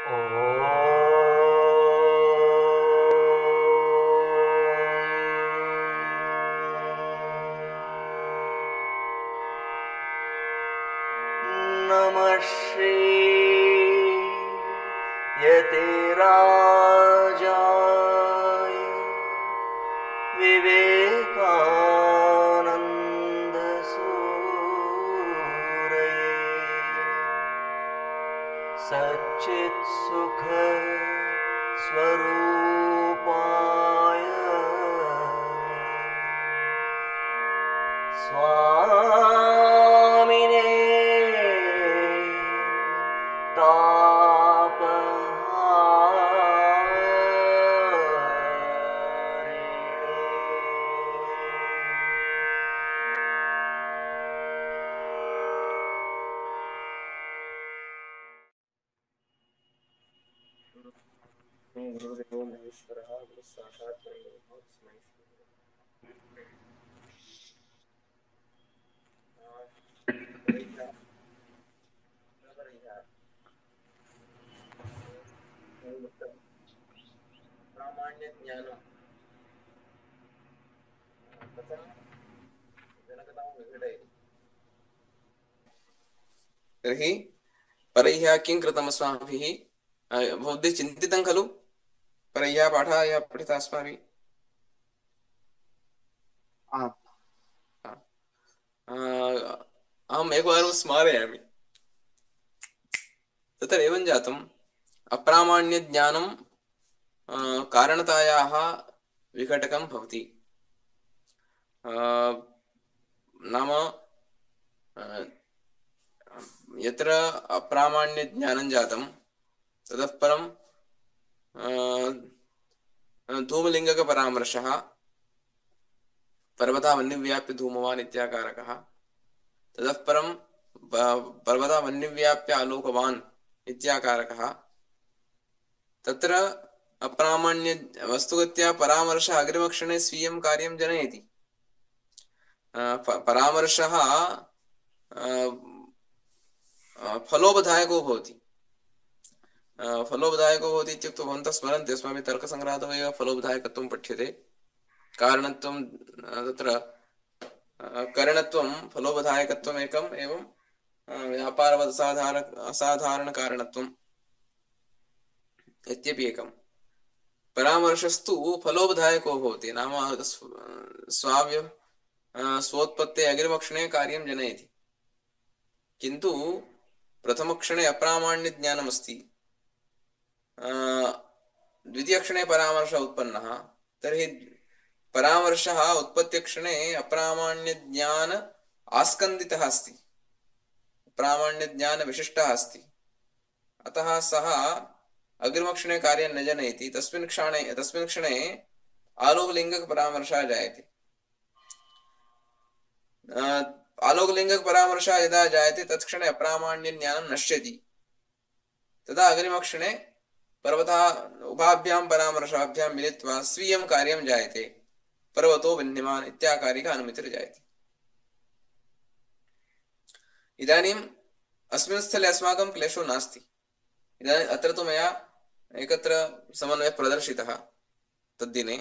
नमः श्रीयतिराजाय विवेकानन्दसूरये सच्चित्सुख स्वरूपाय स्वामिने गुरुदेवो महेश्वरः गुरुः साक्षात् परब्रह्म तस्मै प्रामाण्य ज्ञानं कथं जनकतां विघटयति। तर्हि परह्यः किं कृतम् अस्माभिः? भवद्भिः चिन्तितं खलु परह्यः पाठः यः पठितः अस्माभिः? अहम् एकवारं स्मारयामि। तत्र एवं जातम्, अप्रामाण्यज्ञानं कारणतायाः विघटकं भवति। नाम यत्र अप्रामाण्यज्ञानं जातं ततः परं धूमलिङ्गकपरामर्शः, पर्वतः वह्निव्याप्य धूमवान् इत्याकारकः, ततः परं पर्वतः वह्निव्याप्य आलोकवान् इत्याकारकः। तत्र अप्रामाण्य वस्तुगत्या परामर्शः अग्रिमक्षणे स्वीयं कार्यं जनयति। परामर्शः फलोपदायको भवति। फलोपदायको भवति इत्युक्ते भवन्तः स्मरन्ति, अस्माभिः तर्कसङ्ग्रहादौ एव फलोपदायकत्वं पठ्यते। कारणत्वं तत्र करणत्वं फलोपदायकत्वम् एकम्, एवं व्यापारवत् असाधारणकारणत्वम् इत्यपि एकम्। परामर्शस्तु फलोपदायको भवति, नाम स्वोत्पत्ते अग्रिमक्षणे कार्यं जनयति। किन्तु प्रथमक्षणे अप्रामाण्यज्ञानमस्ति, द्वितीयक्षणे परामर्शः उत्पन्नः, तर्हि परामर्शः उत्पत्तिक्षणे अप्रामाण्यज्ञान आस्कन्दितः अस्ति, प्रामाण्यज्ञानविशिष्टः अस्ति। अतः सः अग्रिमक्षणे कार्यं न जनयति। तस्मिन् क्षणे आलोकलिङ्गकपरामर्शः जायते। आलोकलिङ्गकपरामर्शः यदा जायते तत्क्षणे अप्रामाण्यज्ञानं नश्यति। तदा अग्रिमक्षणे पर्वतः उभाभ्यां परामर्शाभ्यां मिलित्वा स्वीयं कार्यं जायते। पर्वतो वह्निमान् इत्याकारिक अनुमितिर्जायते। इदानीम् अस्मिन् स्थले अस्माकं क्लेशो नास्ति। इदानीम् अत्र तु मया एकत्र समन्वयः प्रदर्शितः तद्दिने।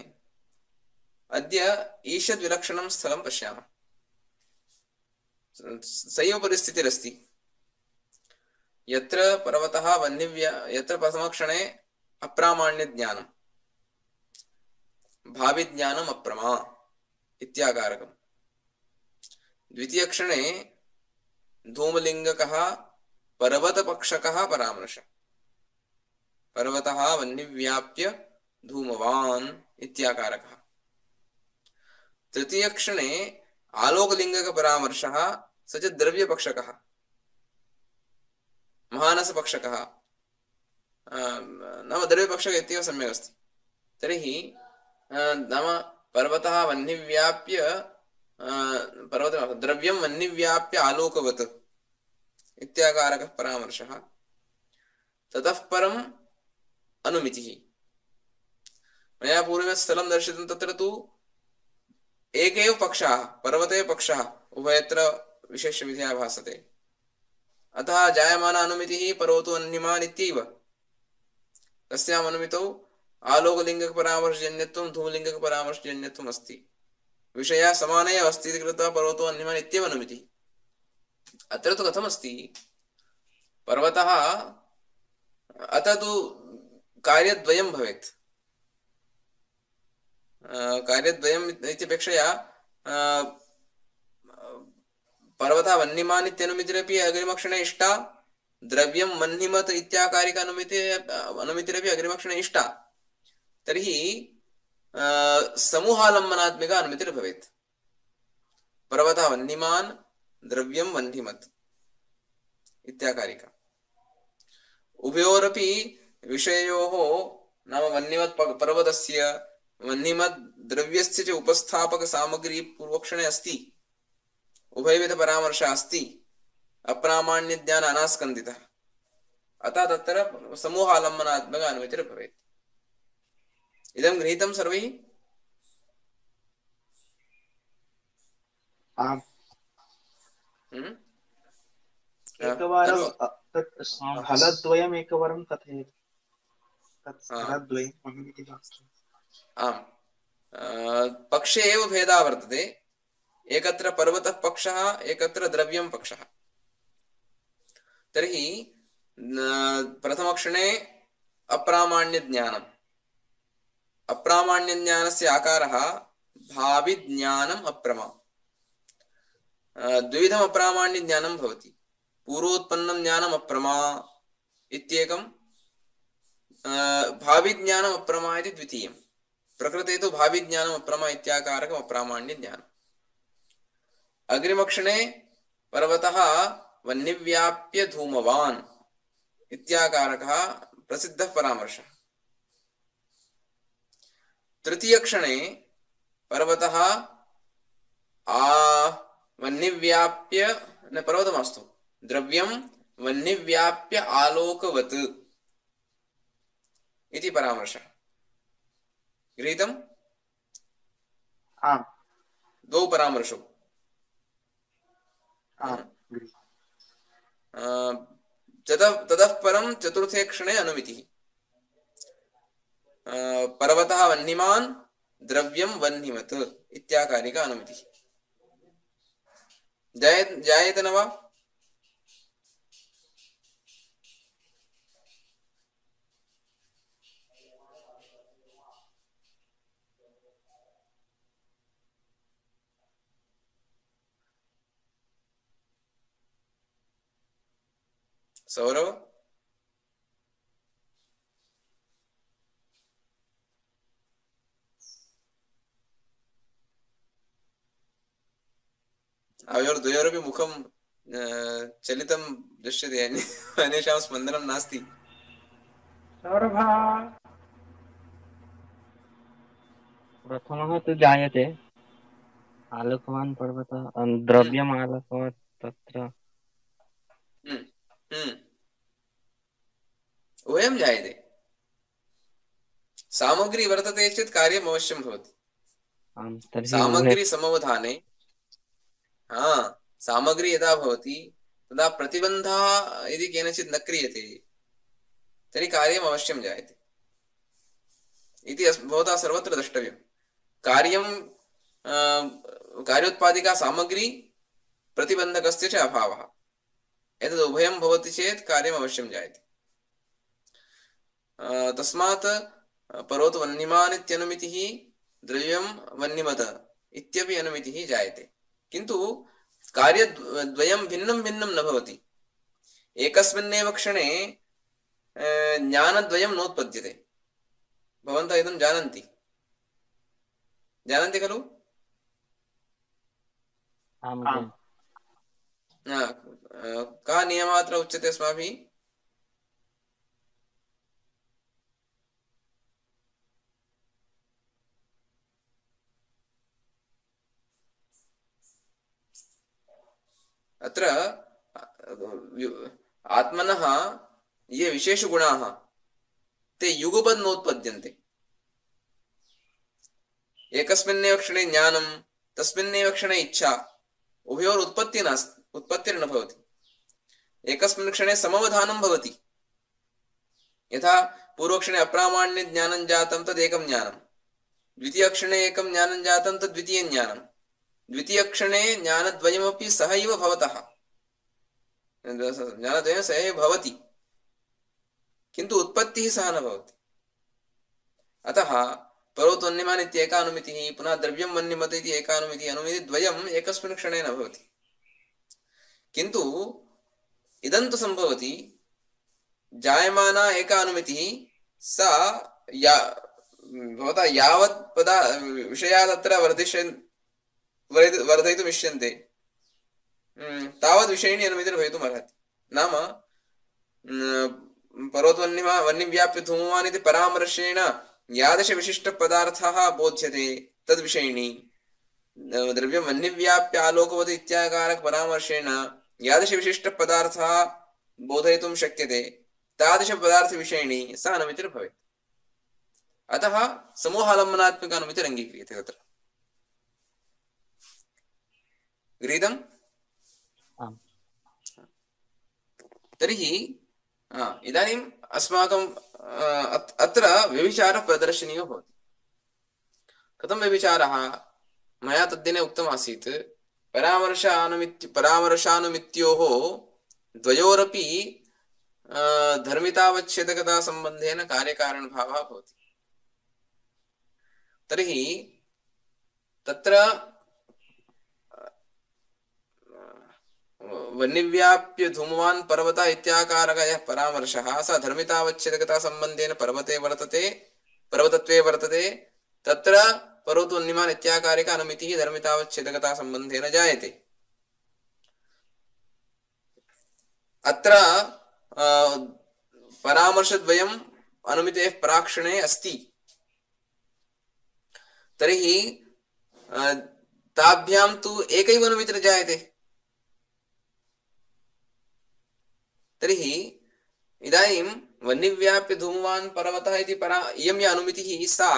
अद्य ईषद्विलक्षणं स्थलं पश्यामः। सैव परिस्थितिरस्ति, यत्र पर्वतः यत्र प्रथमक्षणे अप्रामाण्यज्ञानं, भाविज्ञानम् अप्रमा इत्याकारकम्, द्वितीयक्षणे धूमलिङ्गकः पर्वतपक्षकः परामर्श, पर्वतः वह्निव्याप्य धूमवान् इत्याकारकः, तृतीयक्षणे आलोकलिङ्गकपरामर्शः स च द्रव्यपक्षकः, महानसपक्षकः, नाम द्रव्यपक्षक इत्येव सम्यक् अस्ति। तर्हि नाम पर्वतः वह्निव्याप्य द्रव्यं वह्निव्याप्य आलोकवत् इत्याकारकः परामर्शः। ततः परम् अनुमितिः। मया पूर्वं स्थलं दर्शितं, तत्र तु एकैव पक्षः, पर्वते पक्षः, उभयत्र विशेषविधया भासते। अतः जायमान अनुमितिः पर्वतो वह्निमान् इत्यैव। तस्याम् अनुमितौ आलोकलिङ्गकपरामर्शजन्यत्वं धूमलिङ्गकपरामर्शजन्यत्वम् अस्ति। विषयः समानः एव अस्ति इति कृत्वा पर्वतो वह्निमान् इत्येव अनुमितिः। अत्र तु कथमस्ति, पर्वतः अतः तु कार्यद्वयं भवेत्। कार्यद्वयम् इत्यपेक्षया पर्वतः वह्निमान् इत्यनुमितिरपि अग्रिमक्षणे इष्टा, द्रव्यं वह्निमत् इत्याकारिक अनुमितिरपि अग्रिमक्षणे इष्टा। तर्हि समूहालम्बनात्मिका अनुमितिर्भवेत्। पर्वतः वह्निमान्, द्रव्यं वह्निमत् इत्याकारिका। उभयोरपि विषययोः नाम वह्निमत् पर्वतस्य वह्निमत् द्रव्यस्य च उपस्थापक सामग्री पूर्वक्षणे अस्ति, उभयविध परामर्शः अस्ति, अप्रामाण्य ज्ञान अनास्कन्दितः, अतः तत्र समूहालम्बनात्मक अनुमितिर्भवेत्। इदं गृहीतं सर्वैः? आम्। एकवारं तत् स्थलद्वयम् एकवारं कथयतु। तत् स्थलद्वयम् इति वाक्यम्। आम्, पक्षे एव भेदः वर्तते। एकत्र पर्वतः पक्षः, एकत्र द्रव्यं पक्षः। तर्हि प्रथमक्षणे अप्रामाण्यज्ञानम्, अप्रामाण्यज्ञानस्य आकारः भाविज्ञानम् अप्रमा। द्विविधम् अप्रामाण्यज्ञानं भवति। पूर्वोत्पन्नं ज्ञानम् अप्रमा इत्येकं, भाविज्ञानम् अप्रमा इति द्वितीयं। प्रकृते तु भाविज्ञानम् अप्रमा इत्याकारकम् अप्रामाण्यज्ञानम्। अग्रिमक्षणे पर्वतः वह्निव्याप्य धूमवान् इत्याकारकः प्रसिद्धः परामर्शः। तृतीयक्षणे पर्वतः वह्निव्याप्य न पर्वतमास्तु द्रव्यं वह्निव्याप्य आलोकवत् इति परामर्शः। गृहीतम्? आम्। द्वौ परामर्शौ। ततः परं चतुर्थे क्षणे अनुमितिः। पर्वतः वह्निमान्, द्रव्यं वह्निमत् इत्याकारिका अनुमितिः। जायेत न वा? सौरव? आवयोर्द्वयोरपि मुखं चलितं दृश्यते, अन्येषां स्पन्दनं नास्ति। सौरभः प्रथमः तु जायते आलोकवान् पर्वतः, द्रव्यम् आलोकवत् तत्र उभयं जायते। सामग्री वर्तते चेत् कार्यम् अवश्यं भवति। सामग्री समवधाने, सामग्री यदा भवति तदा प्रतिबन्धः यदि केनचित् न क्रियते तर्हि कार्यम् अवश्यं जायते इति भवता सर्वत्र द्रष्टव्यं। कार्यं कार्योत्पादिका सामग्री, प्रतिबन्धकस्य च अभावः, एतद् उभयं भवति चेत् कार्यम् अवश्यं जायते। तस्मात् पर्वतो वह्निमान् इत्यनुमितिः, द्रव्यं वह्निमत् इत्यपि अनुमितिः जायते। किन्तु कार्यद्वयं भिन्नं भिन्नं न भवति। एकस्मिन्नेव क्षणे ज्ञानद्वयं नोत्पद्यते। भवन्तः इदं जानन्ति, जानन्ति खलु? कः नियमः अत्र उच्यते अस्माभिः? अत्र आत्मनः ये विशेषगुणाः ते युगपद् नोत्पद्यन्ते। एकस्मिन्नेव क्षणे ज्ञानं, तस्मिन्नेव क्षणे इच्छा, उभयोर उत्पत्तिर्न भवति। एकस्मिन् क्षणे समवधानं भवति। यथा पूर्वक्षणे अप्रामाण्य ज्ञानं जातं तदेकं ज्ञानं, द्वितीयक्षणे एकं ज्ञानं जातं तद् द्वितीयं ज्ञानं, द्वितीयक्षणे ज्ञानद्वयमपि सहैव भवतः, ज्ञानद्वयं सहैव भवति, किन्तु उत्पत्तिः सह न भवति। अतः पर्वतोऽन्यमान् इत्येका अनुमितिः, पुनः द्रव्यं वह्निमत इति एका अनुमितिः, अनुमितिद्वयम् एकस्मिन् क्षणे न भवति। किन्तु इदं तु सम्भवति, जायमाना एका अनुमितिः सा या भवता यावत् विषयाः तत्र वर्धयितुम् इष्यन्ते तावद् विषयिणी अनुमितिर्भवितुम् अर्हति। नाम पर्वतवह्निव्याप्य धूमवान् इति परामर्शेण यादृश विशिष्टपदार्थः बोध्यते तद्विषयिणी, द्रव्यं वह्निव्याप्य आलोकवत् इत्याकारक परामर्शेण यादृश विशिष्टपदार्थः बोधयितुं शक्यते तादृश पदार्थविषयिणी सा अनुमितिर्भवेत्। अतः समूहालम्बनात्मक अनुमितिरङ्गीक्रियते तत्र। गृहीतम्? तर्हि इदानीम् अस्माकं अत्र व्यभिचारः प्रदर्शनीयो भवति। कथं व्यभिचारः? मया तद्दिने उक्तमासीत्, परामर्शानुमित्योः द्वयोरपि धर्मितावच्छेदकता सम्बन्धेन कार्यकारणभावः भवति। तर्हि तत्र वह्निव्याप्य धूमवान् पर्वतः इत्याकारकः यः परामर्शः स धर्मितावच्छेदकता सम्बन्धेन पर्वतत्वे वर्तते, तत्र पर्वतोऽन्यमान् इत्याकारक अनुमितिः धर्मितावच्छेदकता सम्बन्धेन जायते। अत्र परामर्शद्वयम् अनुमितेः प्राक्षणे अस्ति। तर्हि ताभ्यां तु एकैव अनुमितिर्जायते। तर्हि इदानीं वह्निव्याप्य धूमवान् पर्वतः इति इयं या अनुमितिः सा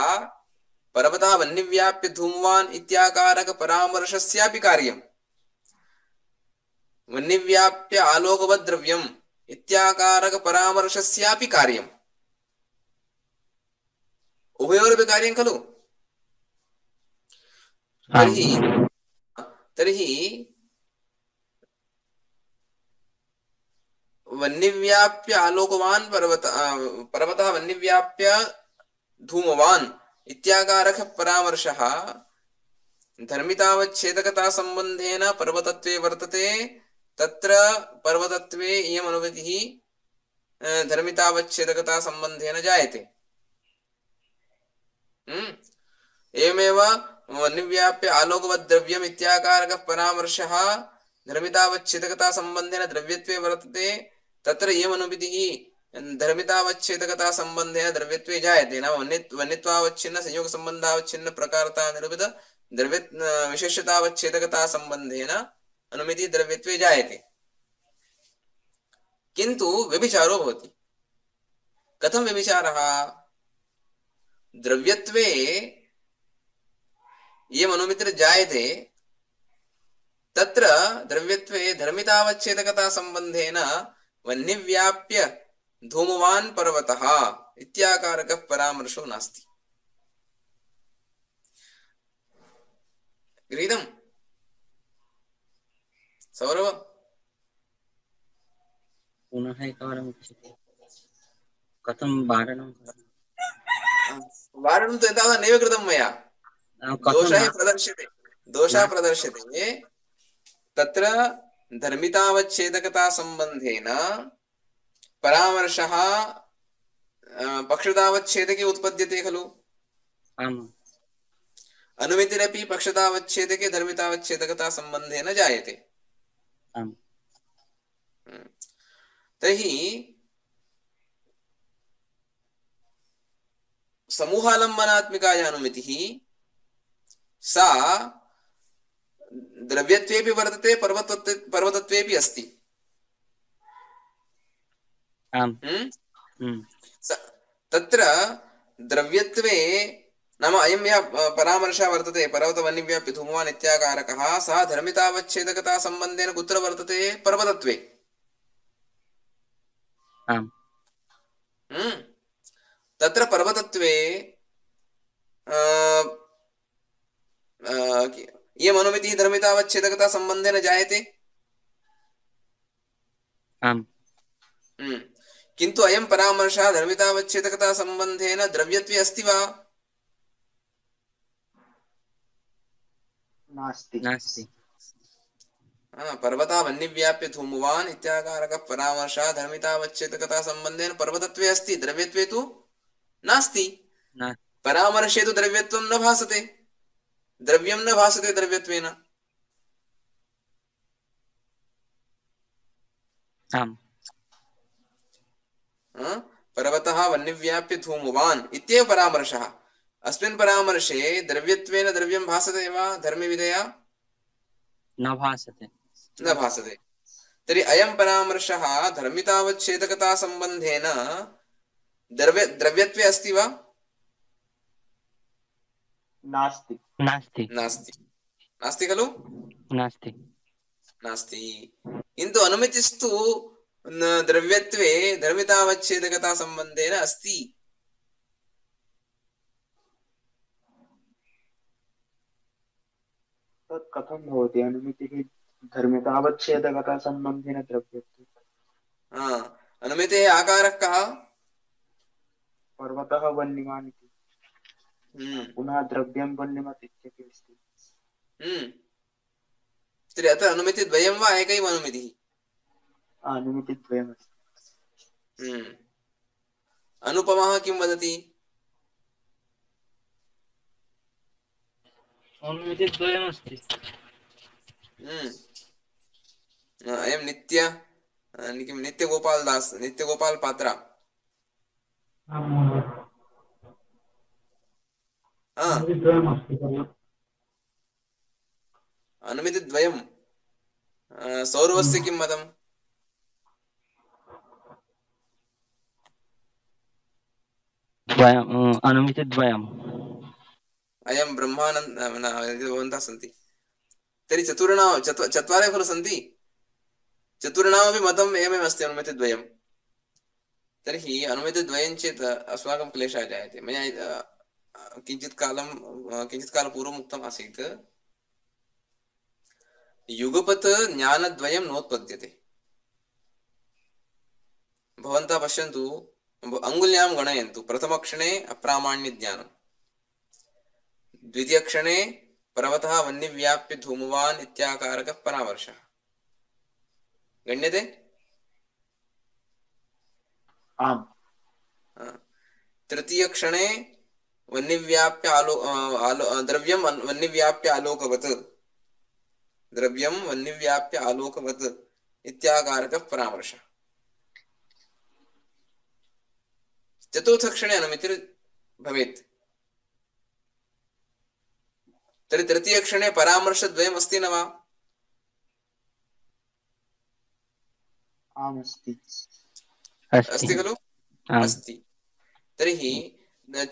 पर्वतः वह्निव्याप्य धूमवान् इत्याकारक परामर्शस्यापि कार्यं, वह्निव्याप्य आलोकवत् द्रव्यम् इत्याकारक परामर्शस्यापि कार्यम्, उभयोरपि कार्यं खलु। तर्हि वह्निव्याप्य आलोकवान् पर्वतः वह्निव्याप्य धूमवान् इत्याकारक परामर्शः धर्मितावच्छेदकता सम्बन्धेन पर्वतत्वे वर्तते, तत्र पर्वतत्वे इयम् अनुमितिः धर्मितावच्छेदकता सम्बन्धेन जायते। एवमेव वह्निव्याप्य आलोकवत् द्रव्यम् इत्याकारक परामर्शः धर्मितावच्छेदकता सम्बन्धेन द्रव्यत्वे वर्तते, तत्र इयम् अनुमितिः धर्मितावच्छेदकता सम्बन्धेन द्रव्यत्वे जायते। नाम वह्नित्वावच्छिन्न संयोग सम्बन्धावच्छिन्न प्रकारता निरूपित द्रव्य विशेषतावच्छेदकता सम्बन्धेन अनुमितिः द्रव्यत्वे जायते। किन्तु व्यभिचारो भवति। कथं व्यभिचारः? द्रव्यत्वे इयम् अनुमितिर्जायते, तत्र द्रव्यत्वे धर्मितावच्छेदकता सम्बन्धेन वह्निव्याप्य धूमवान् पर्वतः इत्याकारकः परामर्शो नास्ति। गृहीतम्? सौरभ पुनः एकवारम् उच्यते, कथं वारणं? वारणं तु एतावत् नैव कृतं मया। दोषः प्रदर्श्यते। तत्र धर्मितावच्छेदकता सम्बन्धेन परामर्शः पक्षतावच्छेदके उत्पद्यते खलु। अनुमितिरपि पक्षतावच्छेदके धर्मितावच्छेदकता सम्बन्धेन जायते। तर्हि समूहालम्बनात्मिकाया अनुमितिः सा द्रव्यत्वेपि वर्तते, पर्वतत्वेपि अस्ति। तत्र द्रव्यत्वे नाम अयं यः परामर्शः वर्तते पर्वतवह्निव्याप्य धूमवान् इत्याकारकः, सः धर्मितावच्छेदकता सम्बन्धेन कुत्र वर्तते? पर्वतत्वे। तत्र पर्वतत्वे इयम् अनुमितिः धर्मितावच्छेदकता सम्बन्धेन जायते। आम्। किन्तु अयं परामर्शः धर्मितावच्छेदकता सम्बन्धेन द्रव्यत्वे अस्ति वा? नास्ति। नास्ति। पर्वतः वह्निव्याप्य धूमवान् इत्याकारकः परामर्शः धर्मितावच्छेदकता सम्बन्धेन पर्वतत्वे अस्ति, द्रव्यत्वे तु नास्ति। परामर्शे तु द्रव्यत्वं न भासते, द्रव्यं न भासते द्रव्यत्वेन। आम्। पर्वतः वह्निव्याप्य धूमवान् इत्येव परामर्शः। अस्मिन् परामर्शे द्रव्यत्वेन द्रव्यं भासते वा धर्मविधया? न भासते। न भासते। तर्हि अयं परामर्शः धर्मितावच्छेदकता सम्बन्धेन द्रव्यत्वे अस्ति वा? नास्ति। नास्ति। नास्ति। नास्ति खलु? नास्ति। नास्ति। किन्तु अनुमितिस्तु द्रव्यत्वे धर्मितावच्छेदकता सम्बन्धेन अस्ति। तत् कथं भवति? अनुमितिः धर्मितावच्छेदकता सम्बन्धेन द्रव्यत्वे। अनुमितेः आकारः कः? पर्वतः वह्निवान् इति। पुनः द्रव्यं वह्निमत् इत्यपि अस्ति। तर्हि अत्र अनुमितिद्वयं वा एकैव अनुमितिः? अनुमितिद्वयमस्ति। अनुपमः किं वदति? अनुमितिद्वयमस्ति। अयं नित्यगोपाल दास, नित्यगोपाल पात्रा। अनुमितिद्वयं। सौरवस्य किं मतम्? अनुमितिद्वयम्। अयं ब्रह्मानन्द भवन्तः सन्ति। तर्हि चत्वारः खलु सन्ति। चतुर्णामपि मतम् एवमेव अस्ति अनुमितिद्वयं। तर्हि अनुमितिद्वयं चेत् अस्माकं क्लेशः जायते। मया किञ्चित् कालपूर्वम् उक्तम् आसीत्, युगपत् ज्ञानद्वयं नोत्पद्यते। भवन्तः पश्यन्तु, अङ्गुल्यां गणयन्तु। प्रथमक्षणे अप्रामाण्यज्ञानं, द्वितीयक्षणे पर्वतः वह्निव्याप्य धूमवान् इत्याकारकः परामर्शः गण्यते? आम्। तृतीयक्षणे वह्निव्याप्य द्रव्यं वह्निव्याप्य आलोकवत्, द्रव्यं वह्निव्याप्य आलोकवत् इत्याकारकः परामर्शः। चतुर्थक्षणे अनुमितिर् भवेत्। तर्हि तृतीयक्षणे परामर्शद्वयम् अस्ति न वा? आम्, अस्ति। अस्ति खलु? अस्ति। तर्हि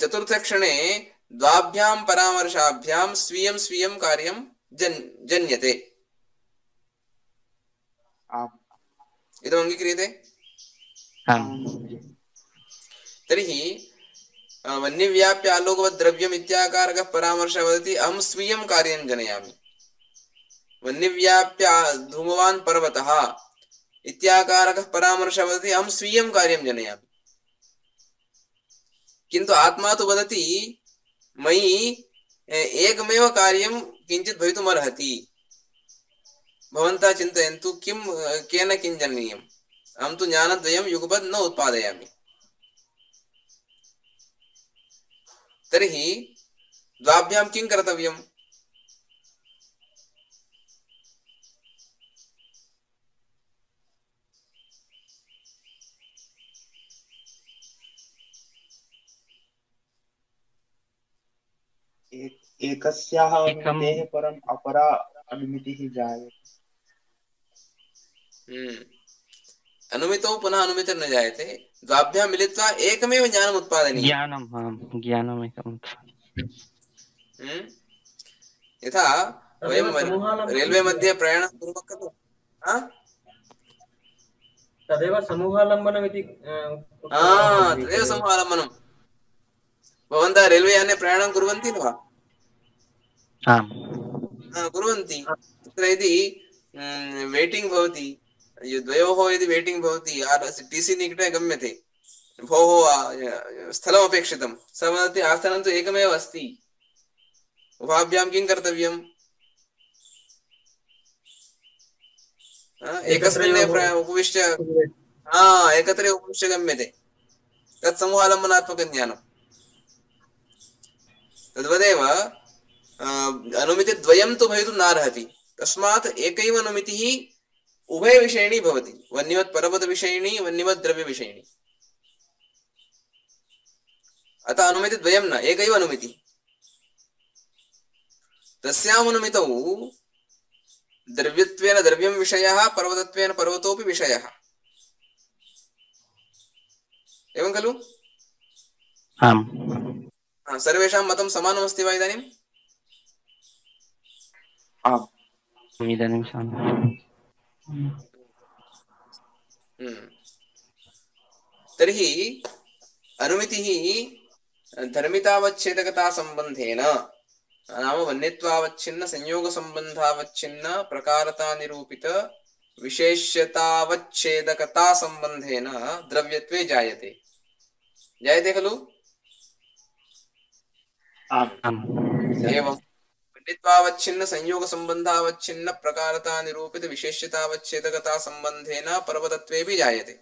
चतुर्थक्षणे द्वाभ्यां परामर्शाभ्यां स्वीयं स्वीयं कार्यं जन्यते। इदम् अङ्गीक्रियते? तर्हि वह्निव्याप्य आलोकवत् द्रव्यम् इत्याकारकः परामर्शः वदति अहं स्वीयं कार्यं जनयामि। वह्निव्याप्य धूमवान् पर्वतः इत्याकारकः परामर्शः वदति अहं स्वीयं कार्यं जनयामि। किन्तु आत्मा तु वदति मयि एकमेव कार्यं किञ्चित् भवितुमर्हति। भवन्तः चिन्तयन्तु, केन किं जननीयम्? अहं तु ज्ञानद्वयं युगपत् न उत्पादयामि। तर्हि द्वाभ्यां किं कर्तव्यम्? एकस्याः अनुमितेः परम् अपरा अनुमितिः जायते। अनुमितौ पुनः अनुमितिर्न जायते। द्वाभ्यां मिलित्वा एकमेव ज्ञानम् उत्पादनीयम्। ज्ञानमेकम्। यथा वयं रेल्वे मध्ये प्रयाणं कुर्मः खलु, तदेव समूहालम्बनम् इति। तदेव समूहालम्बनम्। भवन्तः रेल्वे याने प्रयाणं कुर्वन्ति वा? आम् कुर्वन्ति। तत्र यदि वेटिङ्ग् भवति, द्वयोः यदि वेटिङ्ग् भवति, TC निकटे गम्यते, भोः स्थलमपेक्षितं, सः वदति आसनं तु एकमेव अस्ति, उभाभ्यां किं कर्तव्यम्? एकस्मिन्नेव उपविश्य एकत्रैव उपविश्य गम्यते। तत् समूहालम्बनात्मकं ज्ञानं। तद्वदेव अनुमितिद्वयं तु भवितुं नार्हति। तस्मात् एकैव अनुमितिः उभयविषयिणी भवति, वह्निवत् परपदविषयिणी, वह्निवत् द्रव्यविषयिणी। अतः अनुमितिद्वयं न, एकैव अनुमितिः। तस्याम् अनुमितौ द्रव्यत्वेन द्रव्यं विषयः, पर्वतत्वेन पर्वतोऽपि विषयः। एवं खलु? आम् सर्वेषां मतं समानमस्ति वा इदानीं? आम् इदानीं तर्हि अनुमितिः धर्मितावच्छेदकता सम्बन्धेन, नाम वन्यत्वावच्छिन्न संयोगसम्बन्धावच्छिन्न प्रकारता निरूपित विशेष्यतावच्छेदकता सम्बन्धेन द्रव्यत्वे जायते। जायते खलु? एवं वन्यत्वावच्छिन्न संयोगसम्बन्धावच्छिन्न प्रकारता निरूपित विशेष्यतावच्छेदकता सम्बन्धेन पर्वतत्वेऽपि जायते।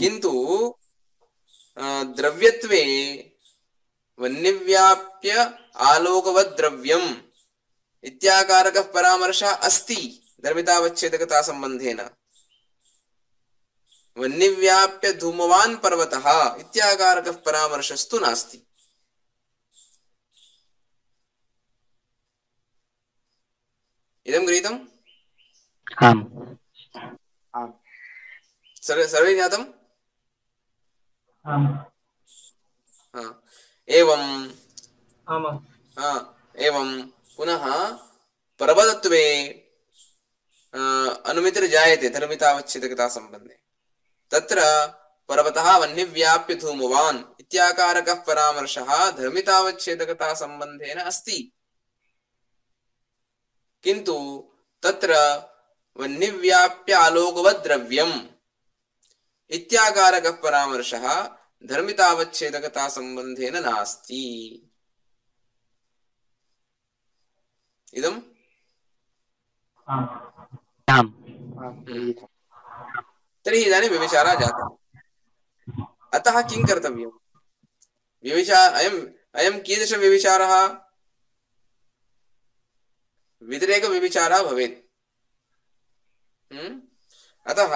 किन्तु द्रव्यत्वे वह्निव्याप्य आलोकवत् द्रव्यम् इत्याकारकः परामर्शः अस्ति धर्मितावच्छेदकता सम्बन्धेन। वह्निव्याप्य धूमवान् पर्वतः इत्याकारकः परामर्शस्तु नास्ति। इदं गृहीतम्? आम् सर्वे ज्ञातम्? एवं पुनः पर्वतत्वे अनुमितिर्जायते धर्मितावच्छेदकता सम्बन्धे। तत्र पर्वतः वह्निव्याप्य धूमवान् इत्याकारकः परामर्शः धर्मितावच्छेदकता सम्बन्धेन अस्ति। किन्तु तत्र वह्निव्याप्य आलोकवत् द्रव्यम् इत्याकारकः परामर्शः धर्मितावच्छेदकता सम्बन्धेन नास्ति। इदम् तर्हि इदानीं व्यभिचारः जातः। अतः किं कर्तव्यम्? अयं कीदृशव्यभिचारः? व्यतिरेकव्यभिचारः भवेत्। अतः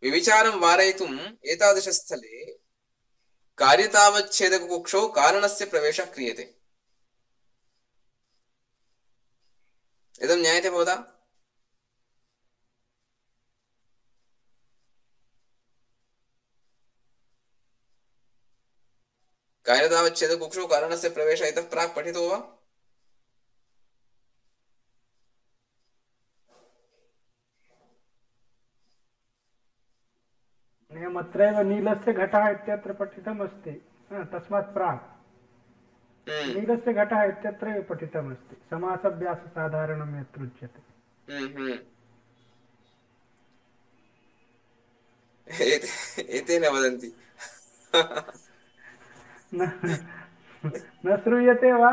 व्यभिचारं वारयितुम् एतादृशस्थले कार्यतावच्छेदककुक्षौ कारणस्य प्रवेशः क्रियते। इदं ज्ञायते भवता? कार्यतावच्छेदककुक्षौ कारणस्य प्रवेशः इतः प्राक् पठितो वा? अत्रैव नीलस्य घटः इत्यत्र पठितमस्ति, तस्मात् प्राक् नीलस्य घटः इत्यत्रैव पठितमस्ति। समासाभ्याससाधारणं यत्र उच्यते। एतेन वदन्ति। न श्रूयते वा?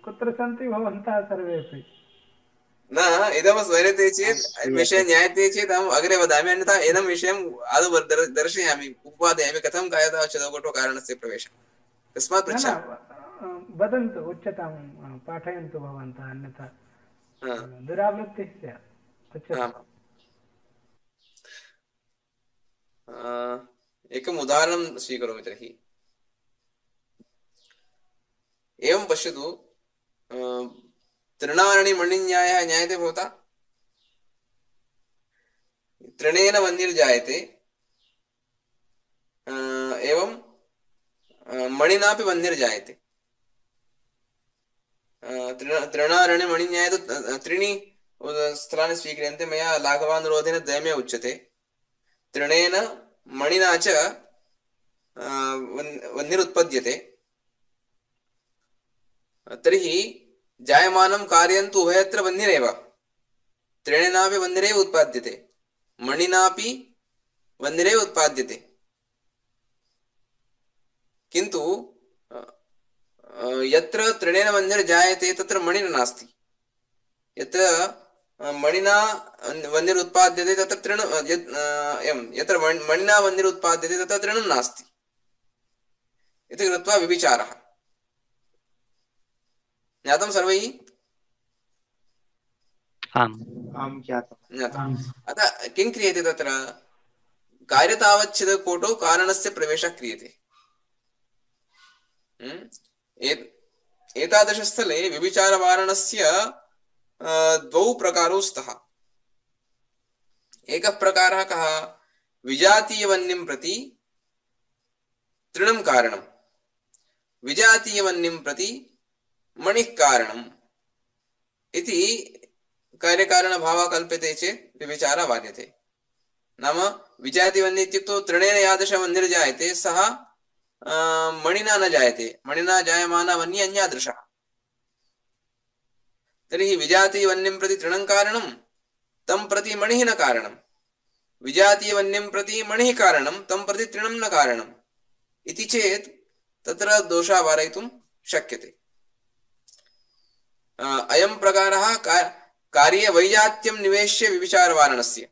कुत्र सन्ति भवन्तः सर्वेपि? न इदं स्मर्यते चेत् विषयः ज्ञायते चेत् अहम् अग्रे वदामि, अन्यथा एनं विषयम् आदौ दर्शयामि, उपपादयामि कथं कार्यतावच्छेदककुक्षौ कारणस्य प्रवेशः। तस्मात् पृच्छामि। वदन्तु, उच्यतां, पाठयन्तु भवन्तः, अन्यथा दुरावृत्तिः स्यात्। एकम् उदाहरणं स्वीकरोमि तर्हि। एवं पश्यतु, तृणारणिमणिन्यायः ज्ञायते भवता? तृणेन वह्निर्जायते, एवं मणिनापि वह्निर्जायते। तृणारणिमणिन्याये तु त्रीणि स्थलानि स्वीक्रियन्ते मया लाघवानुरोधेन द्वयमेव उच्यते तृणेन मणिना च वह्निरुत्पद्यते तर्हि जायमानं कार्यं तु उभयत्र वह्निरेव तृणेनापि वह्निरेव उत्पाद्यते मणिनापि वह्निरेव उत्पाद्यते किन्तु यत्र तृणेन वह्निर्जायते तत्र मणिना नास्ति यत्र मणिना वह्निरुत्पाद्यते तत्र तृण यत्र मणिना वह्निरुत्पाद्यते तत्र तृणं नास्ति इति कृत्वा विविचारः ज्ञातं सर्वैः आम् आं ज्ञातम् ज्ञातम् अतः किं क्रियते तत्र कार्यतावच्छेदकोटौ कारणस्य प्रवेशः क्रियते एतादृशस्थले विविचारवारणस्य द्वौ प्रकारौ स्तः एकः प्रकारः कः विजातीयवह्निं प्रति तृणं कारणं विजातीयवह्निं प्रति मणिः कारणम् इति कार्यकारणभावः कल्प्यते चेत् विविचारः वार्यते नाम विजातीयवह्नि इत्युक्तौ तृणेन यादृशवह्निर्जायते सः मणिना न जायते मणिना जायमाना वह्नि अन्यादृशः तर्हि विजातीयवह्निं प्रति तृणं कारणं तं प्रति मणिः न कारणं विजातीयवह्निं प्रति मणिः कारणं तं प्रति तृणं न कारणम् इति चेत् तत्र दोषः वारयितुं शक्यते अयं प्रकारः कार्ये वैजात्यं निवेश्य विविचारवारणस्य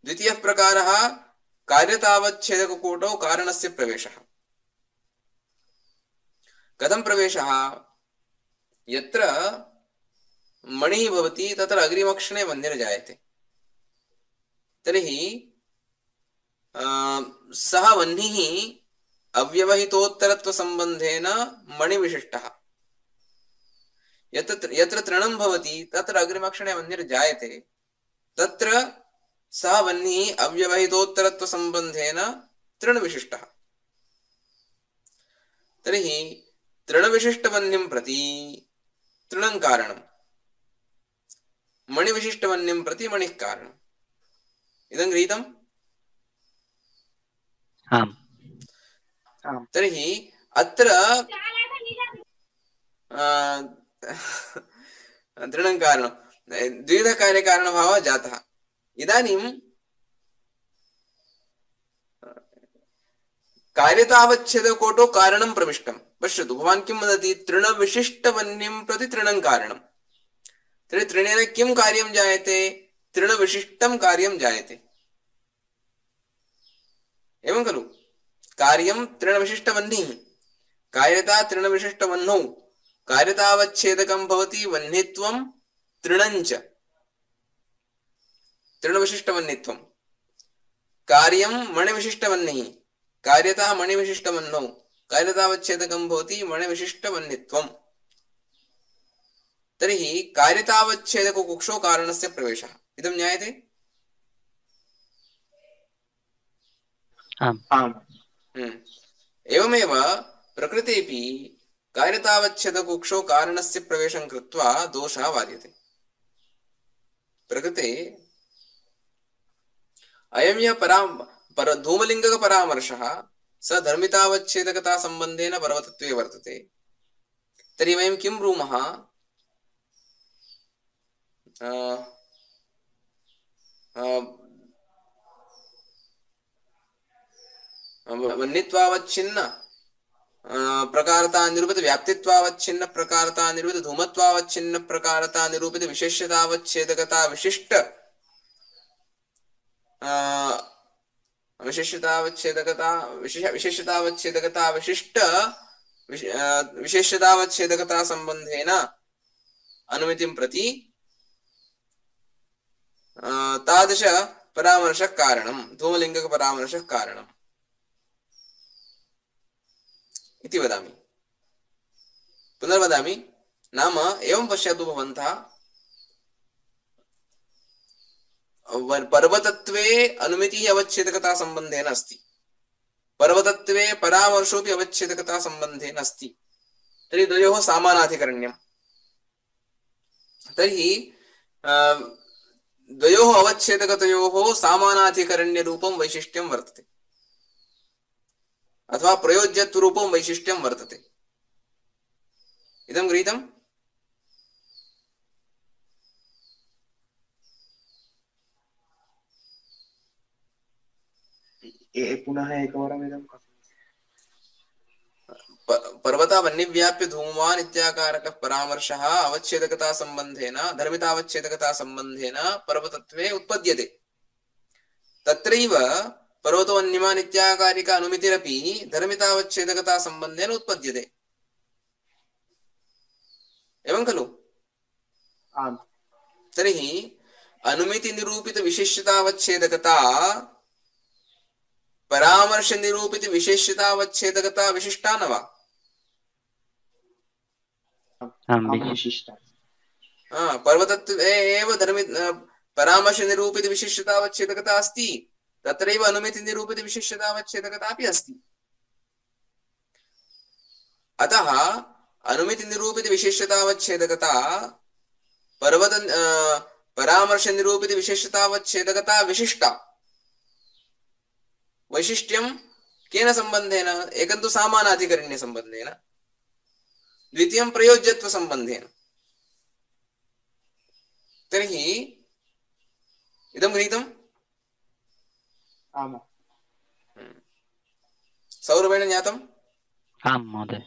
द्वितीयः प्रकारः कार्यतावच्छेदककोटौ कारणस्य प्रवेशः कथं प्रवेशः यत्र मणिः भवति तत्र अग्रिमक्षणे वह्निर्जायते तर्हि सः वह्निः अव्यवहितोत्तरत्वसम्बन्धेन मणिविशिष्टः यत्र तृणं भवति तत्र अग्रिमक्षणे वह्निर्जायते तत्र सः वह्निः अव्यवहितोत्तरत्वसम्बन्धेन तृणविशिष्टः तर्हि तृणविशिष्टवह्निं प्रति तृणं कारणं मणिविशिष्टवह्निं प्रति मणिः कारणम् इदं गृहीतम् आम् तर्हि अत्र तृणं कारणं द्विविध कार्यकारणभावः जातः इदानीं कार्यतावच्छेदकोटौ कारणं प्रविष्टं पश्यतु भवान् किं वदति तृणविशिष्टवह्निं प्रति तृणं कारणं तर्हि तृणेन किं कार्यं जायते तृणविशिष्टं कार्यं जायते एवं खलु कार्यं तृणविशिष्टवह्निः कार्यता तृणविशिष्टवह्नौ कार्यतावच्छेदकं भवति वह्नित्वं तृणञ्च तृणविशिष्टवह्नित्वं कार्यं मणिविशिष्टवह्निः कार्यता मणिविशिष्टवह्नौ कार्यतावच्छेदकं भवति मणिविशिष्टवह्नित्वं तर्हि कार्यतावच्छेदककुक्षौ कारणस्य प्रवेशः इदं ज्ञायते आम् एवमेव प्रकृतेऽपि कार्यतावच्छेदकुक्षौ कारणस्य प्रवेशं कृत्वा दोषः वार्यते प्रकृते अयं यः धूमलिङ्गकपरामर्शः स धर्मितावच्छेदकता सम्बन्धेन पर्वतत्वे वर्तते तर्हि वयं किं ब्रूमः वह्नित्वावच्छिन्न प्रकारता निरूपित व्याप्तित्वावच्छिन्न प्रकारता निरूपित धूमत्वावच्छिन्न प्रकारता निरूपित विशेष्यतावच्छेदकता विशिष्ट विशेष्यतावच्छेदकता विशिष्ट विशेष्यतावच्छेदकता संबंधेन अनुमितिं प्रति तादृश परामर्शः कारणं धूमलिङ्गक परामर्शः कारणम् इति वदामि पुनर्वदामि नाम एवं पश्यतु भवन्तः पर्वतत्वे अनुमितिः अवच्छेदकता संबंधेन अस्ति पर्वतत्वे परामर्शोऽपि अवच्छेदकता संबंधेन अस्ति तर्हि द्वयोः समानाधिकरण्यम् तर्हि द्वयोः अवच्छेदकतयोः सामानाधिकरण्यरूपं वैशिष्ट्यं वर्तते अथवा प्रयोज्यत्वरूपं वैशिष्ट्यं वर्तते। इदं गृहीतम्? पुनः एकवारम् इदं पर्वता वह्निव्याप्य धूमवान् इत्याकारकः परामर्शः अवच्छेदकता संबंधेन धर्मितावच्छेदकता संबंधेन पर्वतत्वे उत्पद्यते। तत्रैव पर्वतो वह्निमान् इत्याकारिक अनुमितिरपि धर्मितावच्छेदकता संबंधेन उत्पद्यते। एवं खलु? आम्। तर्हि अनुमिति निरूपित विशिष्यतावच्छेदकता परामर्श निरूपित विशेष्यतावच्छेदकता विशिष्टा न वा? विशिष्टा। पर्वतत्वे एव धर्मि परामर्श निरूपित विशिष्यतावच्छेदकता अस्ति, तत्रैव अनुमिति निरूपित विशिष्यतावच्छेदकता अपि अस्ति। अतः अनुमिति निरूपित विशिष्यतावच्छेदकता पर्वत परामर्श निरूपित विशिष्यतावच्छेदकता विशिष्टा। वैशिष्ट्यं केन संबंधेन? एकं तु सामानाधिकरण्य संबंधेन, द्वितीयं प्रयोज्यत्व संबंधेन। तर्हि इदं गृहीतम्? आम्। सौरभेण ज्ञातम्? आम् महोदय।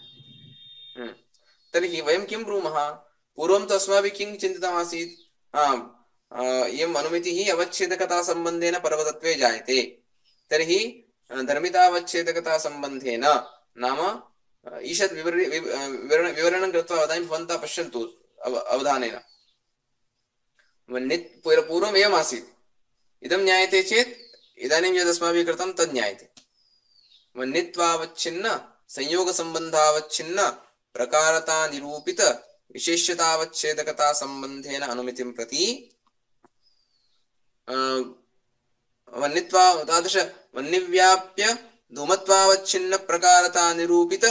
तर्हि वयं किं ब्रूमः? पूर्वं तु अस्माभिः किं चिन्तितमासीत्? इयम् अनुमितिः अवच्छेदकता संबंधेन पर्वतत्वे जायते। तर्हि धर्मितावच्छेदकता संबंधेन नाम ईषद् विवरणं कृत्वा वदामि, भवन्तः पश्यन्तु अवधानेन। पूर्वम् एवम् आसीत्, इदं ज्ञायते चेत् इदानीं यद् अस्माभिः कृतं तद् ज्ञायते। वह्नित्वावच्छिन्न संयोगसम्बन्धावच्छिन्न प्रकारता निरूपित विशेष्यतावच्छेदकता संबंधेन अनुमितिं प्रति वह्नित्वा तादृश वह्निव्याप्य धूमत्वावच्छिन्न प्रकारता निरूपित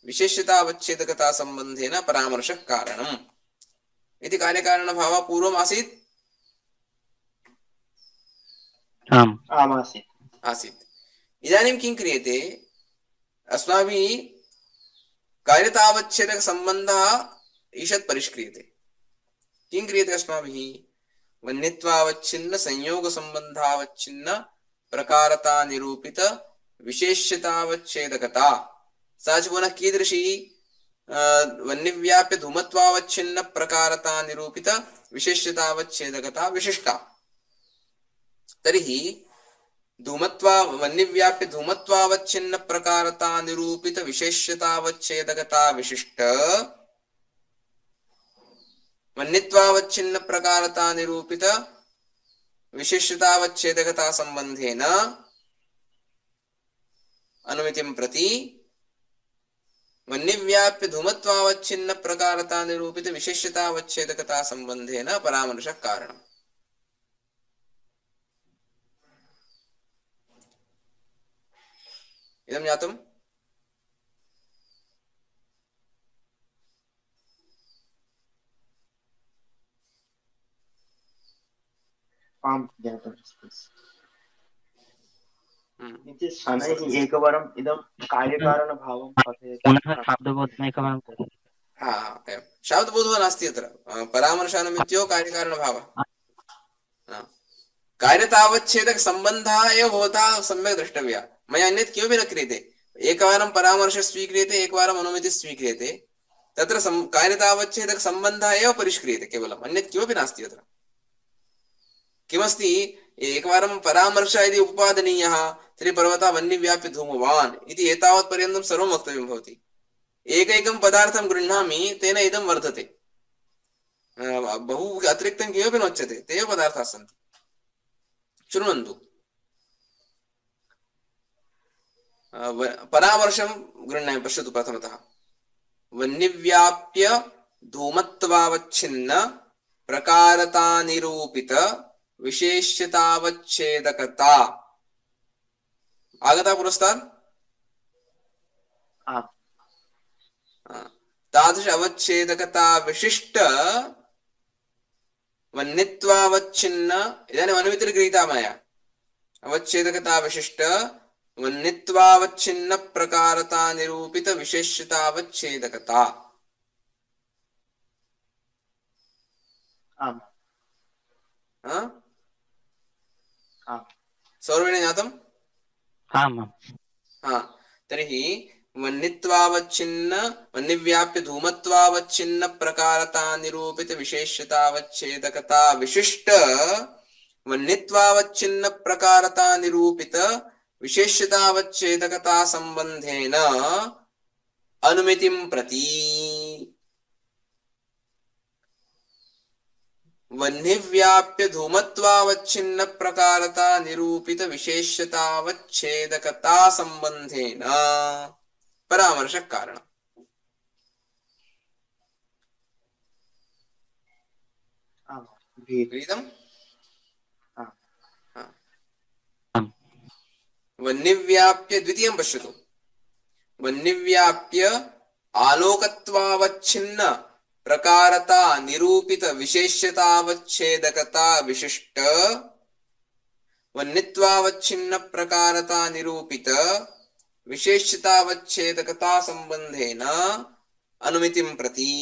विशेष्यतावच्छेदकता संबंधेन परामर्शः कारणम् इति कार्यकारणभावः पूर्वम् आसीत्। आसीत्। इदानीं किं क्रियते? अस्माभिः कार्यतावच्छेदक संबंधः ईषत् परिष्क्रियते। किं क्रियते अस्माभिः? वह्नित्वावच्छिन्न संयोग संबंधावच्छिन्न प्रकारता निरूपित विशेष्यतावच्छेदकता सा च पुनः कीदृशी? वह्निव्याप्य धूमत्वावच्छिन्न प्रकारता निरूपित विशेष्यतावच्छेदकता विशिष्टा। तर्हि वह्निव्याप्य धूमत्वावच्छिन्न प्रकारता निरूपित विशेष्यतावच्छेदकता विशिष्ट वह्नित्वावच्छिन्न प्रकारता निरूपित विशेष्यतावच्छेदकता संबंधेन अनुमितिं प्रति वह्निव्याप्य धूमत्वावच्छिन्न प्रकारता निरूपित विशेष्यतावच्छेदकता संबंधेन परामर्शः कारणम्। इदं ज्ञातम्? आम् ज्ञातम्। इति शनैः एकवारम् इदं कार्यकारणभावं कथयति। पुनः शब्दबोधम् एकवारं करोतु। शब्दबोधः नास्ति अत्र। परामर्शानुमित्यो कार्यकारणभावः। कार्यतावच्छेदक संबंधः एव भवतः सम्यक् द्रष्टव्यः। मया अन्यत् किमपि न क्रियते। एकवारं परामर्शः स्वीक्रियते, एकवारम् अनुमितिः स्वीक्रियते। तत्र कार्यतावच्छेदक संबंधः एव परिष्क्रियते केवलम्, अन्यत् किमपि नास्ति अत्र। किमस्ति? एकवारं परामर्शः यदि उपपादनीयः तर्हि पर्वतः वह्निव्याप्य धूमवान् इति एतावत् पर्यन्तं सर्वं वक्तव्यं भवति। एकैकं पदार्थं गृह्णामि तेन इदं वर्धते, बहु अतिरिक्तं किमपि नोच्यते। ते एव पदार्थाः सन्ति। शृण्वन्तु। परामर्शं गृह्णामि। पश्यतु प्रथमतः। वह्निव्याप्य धूमत्वावच्छिन्न प्रकारता निरूपित विशेष्यतावच्छेदकता आगता पुरस्तात्। तादृश अवच्छेदकता विशिष्ट वन्नित्वावच्छिन्न इदानीम् अनुमितिर् गृहीता मया अवच्छेदकता विशिष्ट वन्नित्वावच्छिन्न प्रकारता निरूपित विशेष्यतावच्छेदकता आम् सौरभेण ज्ञातम् आम् तर्हि वन्नित्वावच्छिन्न वन्निव्याप्य धूमत्वावच्छिन्न प्रकारता निरूपित विशेष्यतावच्छेदकता विशिष्ट वन्नित्वावच्छिन्न प्रकारता निरूपित विशेष्यतावच्छेदकता संबंधेन अनुमितिं प्रति वह्निव्याप्य धूमत्वावच्छिन्न प्रकारता निरूपित विशेष्यतावच्छेदकता संबंधेन परामर्शक कारण गृहीतम् वह्निव्याप्य द्वितीयं पश्यतु वह्निव्याप्य आलोकत्वावच्छिन्न प्रकारता निरूपित विशेष्यतावच्छेदकता विशिष्ट वन्नित्वावच्छिन्न प्रकारता निरूपित विशेष्यतावच्छेदकता संबंधेन अनुमितिं प्रति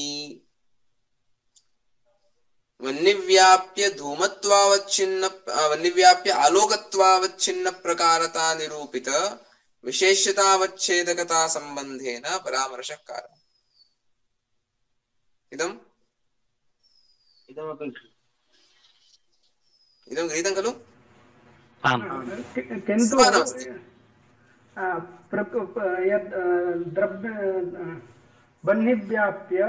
वन्निव्याप्य धूमत्वावच्छिन्न वन्निव्याप्य आलोकत्वावच्छिन्न प्रकारता निरूपित विशेष्यतावच्छेदकता संबंधेन परामर्शक कारण इदं गृहीतं खलु किन्तु यत् द्रव्य वह्निव्याप्य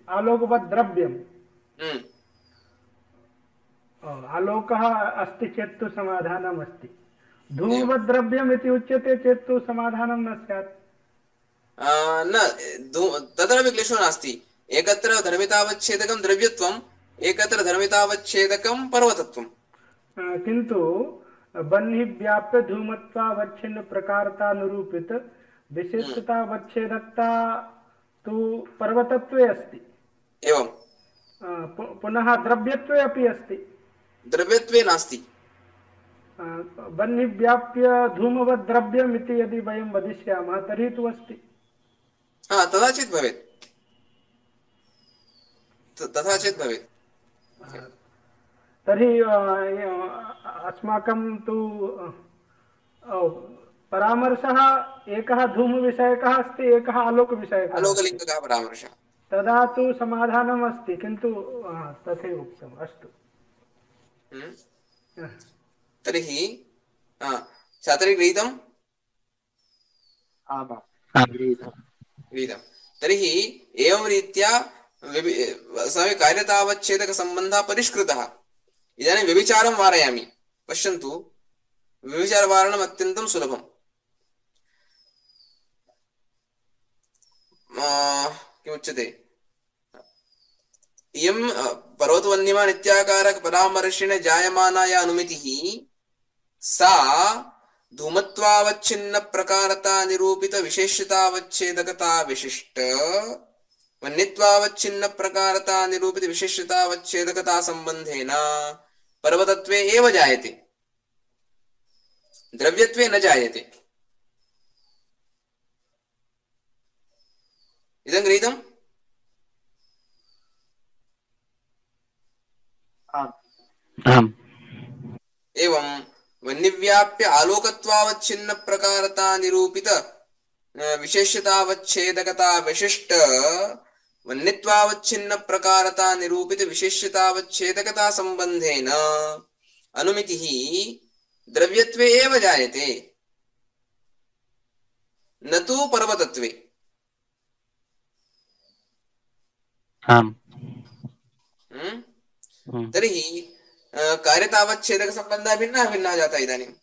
आलोकवत् द्रव्यम् आलोकः अस्ति चेत् तु समाधानम् अस्ति धूमवत् द्रव्यम् इति उच्यते चेत् तु समाधानं न स्यात् न तत्रापि क्लेशो नास्ति एकत्र धर्मितावच्छेदकं द्रव्यत्वम् एकत्र धर्मितावच्छेदकं पर्वतत्वम् किन्तु वह्निव्याप्य धूमत्वावच्छिन्न प्रकारता निरूपित विशेषतावच्छेदकता तु पर्वतत्वे अस्ति एवं पुनः द्रव्यत्वे अपि अस्ति द्रव्यत्वे नास्ति वह्निव्याप्य धूमवत् द्रव्यम् इति यदि वयं वदिष्यामः तर्हि तु अस्ति तथा चेत् भवेत् तर्हि अस्माकं तु परामर्शः एकः धूमविषयकः अस्ति एकः आलोकविषयकः आलोकलिङ्गकः परामर्शः तदा तु समाधानम् अस्ति किन्तु तथैव उक्तम् अस्तु तर्हि छात्रे गृहीतम् गृहीतं तर्हि एवं रीत्या अस्माभिः कार्यतावच्छेदकसम्बन्धः परिष्कृतः इदानीं व्यभिचारं वारयामि पश्यन्तु व्यभिचारवारणम् अत्यन्तं सुलभम् किमुच्यते इयं पर्वतवह्निमा नित्याकारक परामर्शेण जायमाना या अनुमितिः सा धूमत्वावच्छिन्न प्रकारता निरूपित विशेष्यतावच्छेदकता विशिष्ट वह्नित्वावच्छिन्न प्रकारता निरूपित विशेष्यतावच्छेदकता संबंधेन पर्वतत्वे एव जायते द्रव्यत्वे न जायते इदं गृहीतम् एवं वह्निव्याप्य आलोकत्वावच्छिन्न प्रकारता निरूपित विशेष्यतावच्छेदकता विशिष्ट वह्नित्वावच्छिन्न प्रकारता निरूपित विशेष्यतावच्छेदकता संबंधेन अनुमितिः द्रव्यत्वे एव जायते न तु पर्वतत्वे तर्हि कार्यतावच्छेदकसम्बन्धः भिन्नः भिन्नः जातः इदानीम्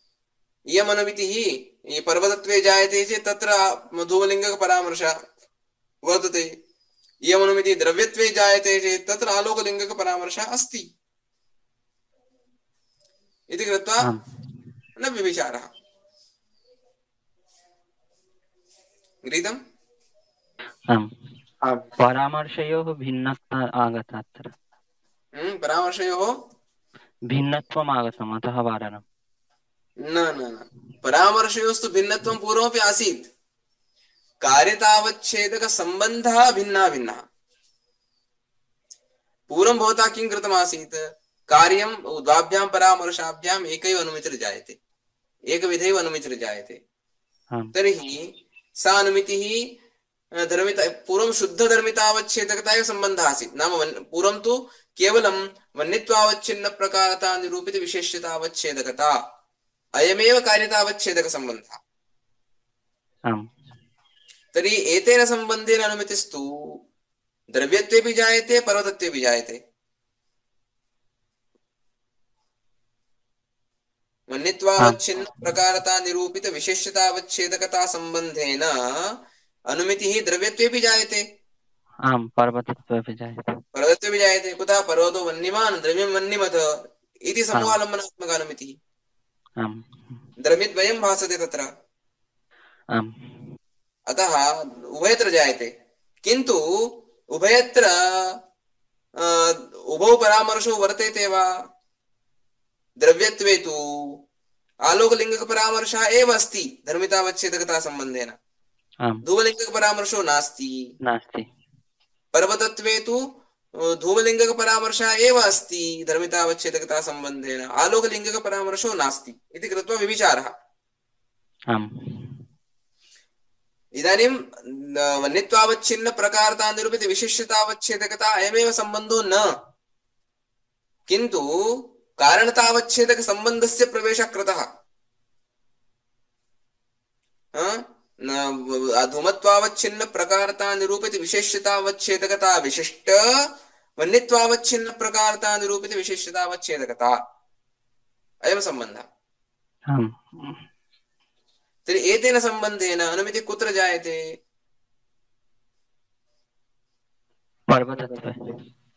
इयम् अनुमितिः पर्वतत्वे जायते चेत् तत्र धूमलिङ्गकपरामर्शः वर्तते इयम् अनुमितिः द्रव्यत्वे जायते चेत् तत्र आलोकलिङ्गकपरामर्शः अस्ति इति कृत्वा न व्यभिचारः गृहीतम् परामर्शयोः भिन्नता आगता अत्र परामर्शयोः भिन्नत्वम् आगतम् अतः वारणम्। न न न परामर्शयोस्तु भिन्नत्वं पूर्वमपि आसीत्। कार्यतावच्छेदकसम्बन्धः भिन्नः भिन्नः। पूर्वं भवता किं कृतमासीत्? कार्यं द्वाभ्यां परामर्शाभ्याम् एकैव अनुमितिर्जायते, एकविधैव अनुमितिर्जायते। आम् तर्हि सा अनुमितिः धर्मिता पूर्वं शुद्धधर्मितावच्छेदकता एव सम्बन्धः आसीत्। नाम पूर्वं तु केवलं वन्यत्वावच्छिन्न प्रकारता निरूपित विशेष्यतावच्छेदकता, अयमेव कार्यतावच्छेदकसम्बन्धः। आम् तर्हि एतेन सम्बन्धेन अनुमितिस्तु द्रव्यत्वेपि जायते, पर्वतत्वेपि जायते। वन्यत्वावच्छिन्न प्रकारता निरूपित विशेष्यतावच्छेदकता सम्बन्धेन अनुमितिः द्रव्यत्वेपि जायते, आम् पर्वतत्वेपि जायते। पर्वतत्वेपि जायते। कुतः? पर्वतो वह्निमान् द्रव्यं वह्निमथ इति आम् समूहालम्बनात्मक अनुमितिः। आम् द्रव्यद्वयं भासते तत्र, आम् अतः उभयत्र जायते। किन्तु उभयत्र उभौ परामर्शौ वर्तेते वा? द्रव्यत्वे तु आलोकलिङ्गकपरामर्शः एव अस्ति धर्मितावच्छेदकता सम्बन्धेन, आम् धूमलिङ्गकपरामर्शो नास्ति। नास्ति। पर्वतत्वे तु धूमलिङ्गकपरामर्शः एव अस्ति धर्मितावच्छेदकता सम्बन्धेन, आलोकलिङ्गकपरामर्शो नास्ति इति कृत्वा विविचारः। आम् इदानीं वन्यत्वावच्छिन्न प्रकारता निरूपित विशिष्टतावच्छेदकता अयमेव सम्बन्धो न, किन्तु कारणतावच्छेदक सम्बन्धस्य प्रवेशः कृतः। धूमत्वावच्छिन्न प्रकारता निरूपित विशेष्यतावच्छेदकता विशिष्ट वन्यत्वावच्छिन्न प्रकारता निरूपित विशेष्यतावच्छेदकता, अयं सम्बन्धः। आम् तर्हि एतेन सम्बन्धेन अनुमितिः कुत्र जायते? पर्वतत्वे।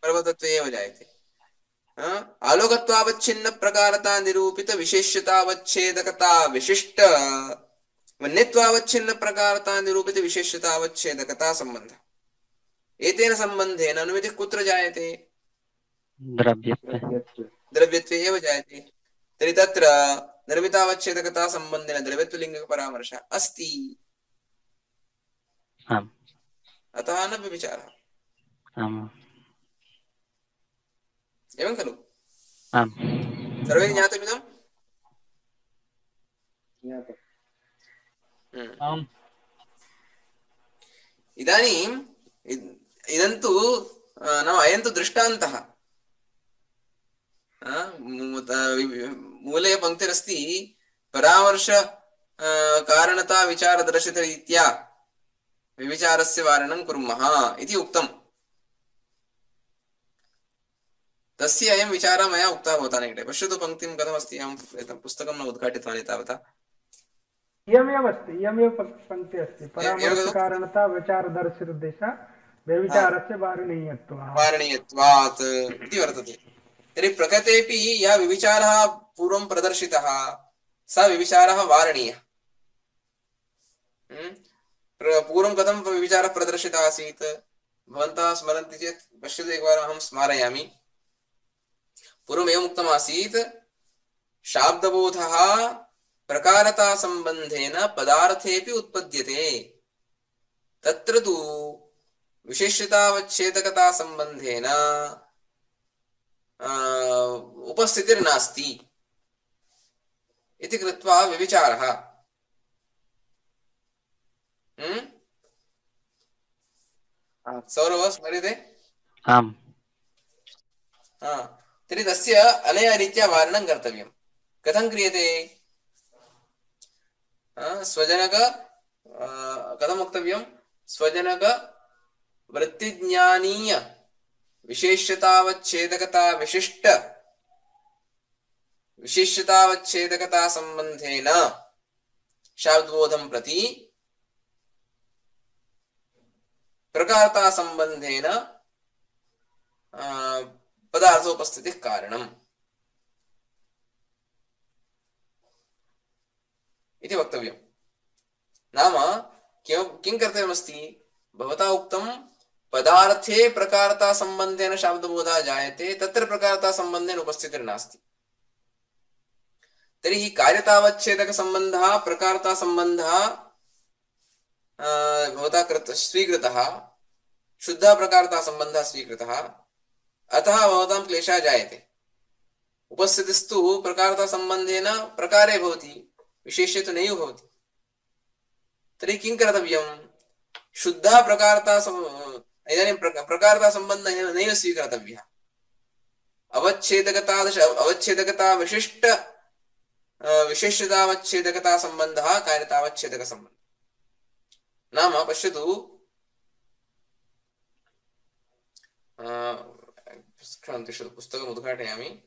पर्वतत्वे एव जायते। आलोकत्वावच्छिन्न प्रकारता निरूपित विशेष्यतावच्छेदकता विशिष्ट वन्यत्वावच्छिन्न प्रकारता निरूपित विशेष्यतावच्छेदकता सम्बन्धः। एतेन सम्बन्धेन अनुमितिः कुत्र जायते? द्रव्यत्वे। द्रव्यत्वे एव जायते। तर्हि तत्र धर्मितावच्छेदकता सम्बन्धेन द्रव्यत्वलिङ्गकपरामर्शः अस्ति, आम् अतः न व्यभिचारः। आम् एवं खलु? आम् सर्वैः ज्ञातमिदम्? आम् इदानीम् इदं तु नाम अयं तु दृष्टान्तः। मूले पङ्क्तिरस्ति परामर्श कारणता विचारदर्शितरीत्या विविचारस्य वारणं कुर्मः इति उक्तम्। तस्य अयं विचारः मया उक्तः भवता निकटे। पश्यतु पङ्क्तिं कथमस्ति। अहं एतं पुस्तकं न उद्घाटितवान् एतावता। इयमेव अस्ति, इयमेव पङ्क्तिः अस्ति। परामर्शकारणता विचारदर्शितदिशा व्यभिचारस्य वारणीयत्वात् इति वर्तते। तर्हि प्रकृतेपि यः विविचारः पूर्वं प्रदर्शितः सः विविचारः वारणीयः। पूर्वं कथं विविचारः प्रदर्शितः आसीत् भवन्तः स्मरन्ति चेत् पश्यतु एकवारम् अहं स्मारयामि। पूर्वम् एवम् उक्तमासीत् शाब्दबोधः प्रकारता सम्बन्धेन पदार्थेऽपि उत्पद्यते, तत्र तु विशेष्यतावच्छेदकता सम्बन्धेन उपस्थितिर्नास्ति इति कृत्वा विविचारः। सौरभ स्मर्यते? आम् तर्हि तस्य अनया रीत्या वारणं कर्तव्यं। कथं क्रियते? स्वजनक कथं वक्तव्यं? स्वजनक वृत्तिज्ञानीय विशेष्यतावच्छेदकता विशिष्ट विशेष्यतावच्छेदकता सम्बन्धेन शाब्दबोधं प्रति प्रकारता सम्बन्धेन पदार्थोपस्थितिः कारणम् इति वक्तव्यं। नाम किं कर्तव्यमस्ति? भवता उक्तं पदार्थे प्रकारता संबंधेन शाब्दबोधः जायते तत्र प्रकारता संबंधेन उपस्थितिर्नास्ति। तर्हि कार्यतावच्छेदक संबंधः प्रकारता संबंधः भवता स्वीकृतः, शुद्धः प्रकारता संबंधः स्वीकृतः, अतः भवतां क्लेशः जायते। उपस्थितिस्तु प्रकारता संबंधेन प्रकारे भवति, विशेष्ये तु नैव भवति। तर्हि किं कर्तव्यं? शुद्धः प्रकारता इदानीं प्रकारता सम्बन्धः नैव स्वीकर्तव्यः। अवच्छेदकता विशिष्ट विशेष्यतावच्छेदकता सम्बन्धः कार्यतावच्छेदक सम्बन्धः। नाम पश्यतु, क्षणं तिष्ठतु, पुस्तकम् उद्घाटयामि।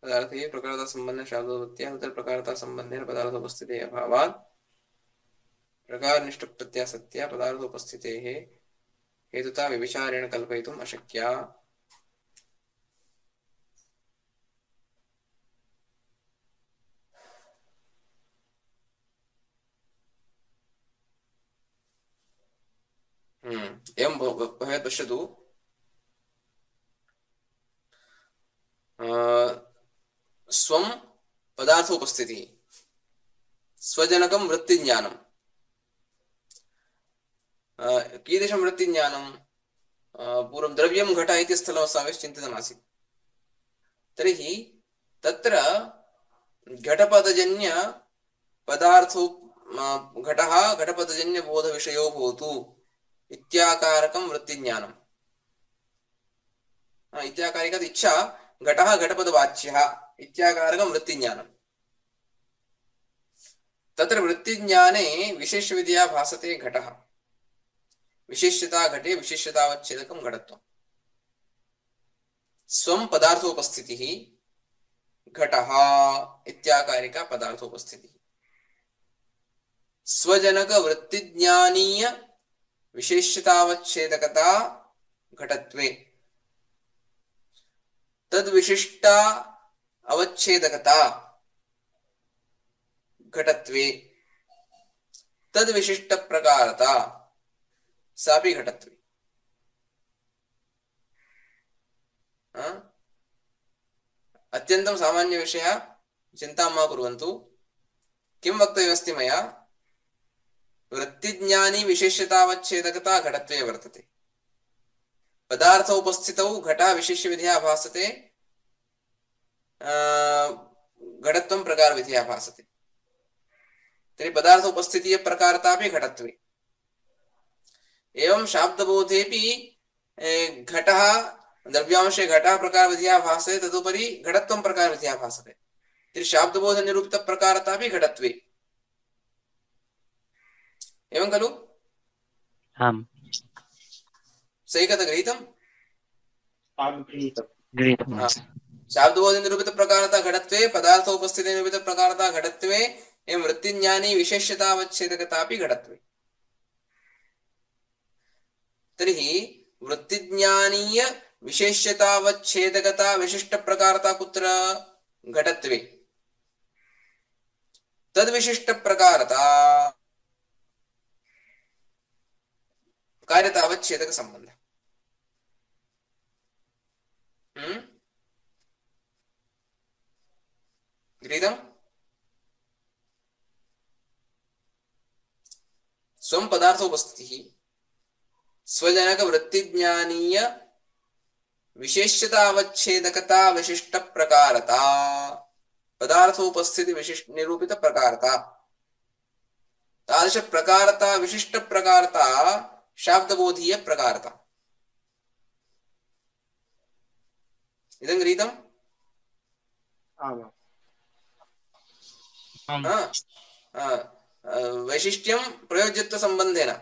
पदार्थे प्रकारता संबंध शाब्दोत्पत्त्या तत्र प्रकारता संबंधेन पदार्थोपस्थितेः अभावात् प्रकारनिष्ठ प्रत्यासत्या पदार्थोपस्थितेः हेतुता विविचारेण कल्पयितुम् अशक्या। एवं भवेत्। पश्यतु, स्वं पदार्थोपस्थितिः, स्वजनकं वृत्तिज्ञानं। कीदृशं वृत्तिज्ञानं? पूर्वं द्रव्यं घट इति स्थलमस्माभिः चिन्तितमासीत्। तर्हि तत्र घटपदजन्य पदार्थो घटः घटपदजन्य बोधविषयो भवतु इत्याकारकं वृत्तिज्ञानम्। इत्याकारिका इच्छा घटः घटपदवाच्यः इत्याकारकं वृत्तिज्ञानम्। तत्र वृत्तिज्ञाने विशेषविधया भासते घटः। विशेष्यता घटे विशेष्यतावच्छेदकं घटत्वम्। स्वं पदार्थोपस्थितिः घटः इत्याकारिका पदार्थोपस्थितिः। स्वजनक वृत्तिज्ञानीय विशेष्यतावच्छेदकता घटत्वे, तद्विशिष्टा अवच्छेदकता घटत्वे, तद्विशिष्ट प्रकारता सापि घटत्वे। अत्यन्तं सामान्य विषयः, चिन्तां मा कुर्वन्तु। किं वक्तव्यमस्ति मया? वृत्तिज्ञानी विशेष्यतावच्छेदकता घटत्वे वर्तते। पदार्थोपस्थितौ घटः विशेष्यविधया भासते, घटत्वं प्रकारविधया भासते। तर्हि पदार्थोपस्थितिः प्रकारतापि घटत्वे। एवं शाब्दबोधेपि घटः द्रव्यांशे घटः प्रकारविधया भासते, तदुपरि घटत्वं प्रकारविधया भासते। तर्हि शाब्दबोधनिरूपितप्रकारतापि घटत्वे। एवं खलु? आम्। सैकत गृहीतम्? गृहीतम्। शाब्दबोधनिरूपितप्रकारता घटत्वे, पदार्थोपस्थितिनिरूपितप्रकारता घटत्वे, एवं वृत्तिज्ञानी विशेष्यतावच्छेदकतापि घटत्वे। तर्हि वृत्तिज्ञानीय विशेष्यतावच्छेदकता विशिष्टप्रकारता कुत्र? घटत्वे। तद्विशिष्टप्रकारता कार्यतावच्छेदक संबंध। गृहीतम्? स्वं पदार्थोपस्थितिः स्वजनक वृत्तिज्ञानीय विशेष्यतावच्छेदकता विशिष्ट प्रकारता, पदार्थोपस्थिति विशिष्ट निरूपित प्रकारता, तादृश प्रकारता विशिष्ट प्रकारता शाब्दबोधीय प्रकारता। इदं गृहीतम्? वैशिष्ट्यं प्रयोज्यत्व संबंधेन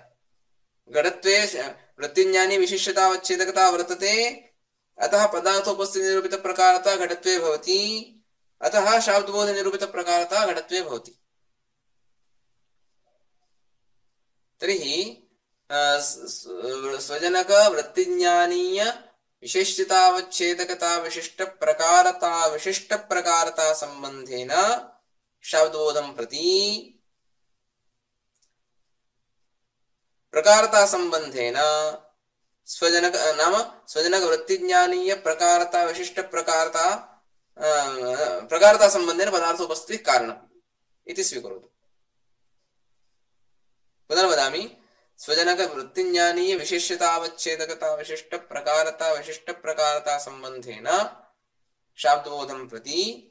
घटत्वे वृत्तिज्ञानी विशिष्यतावच्छेदकता वर्तते, अतः पदार्थोपस्थिति निरूपित प्रकारता घटत्वे भवति, अतः शाब्दबोधनिरूपितप्रकारता घटत्वे भवति। तर्हि स्वजनक वृत्तिज्ञानीय विशेष्यतावच्छेदकता विशिष्ट प्रकारता संबंधेन शाब्दबोधं प्रति प्रकारता संबंधेन स्वजनक नाम स्वजनक वृत्तिज्ञानीय प्रकारता विशिष्ट प्रकारता संबंधेन पदार्थोपस्थितिः कारणम् इति स्वीकरोतु। पुनर्वदामि स्वजनक वृत्तिज्ञानीय विशेष्यतावच्छेदकता विशिष्ट प्रकारता संबंधेन शाब्दबोधं प्रति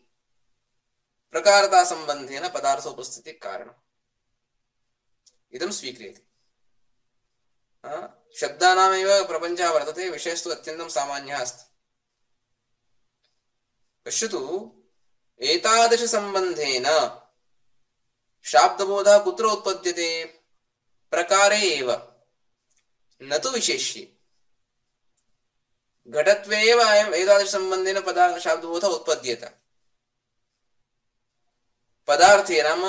प्रकारता संबंधेन पदार्थोपस्थितिः कारणम् इदं स्वीक्रियते। शब्दानामेव प्रपञ्चः वर्तते, विषयस्तु अत्यन्तं सामान्यः अस्ति। पश्यतु, एतादृशसम्बन्धेन शाब्दबोधः कुत्र उत्पद्यते? प्रकारे एव, न तु विशेष्ये। घटत्वे एव अयम् एतादृशसम्बन्धेन शाब्दबोधः उत्पद्येत। पदार्थे नाम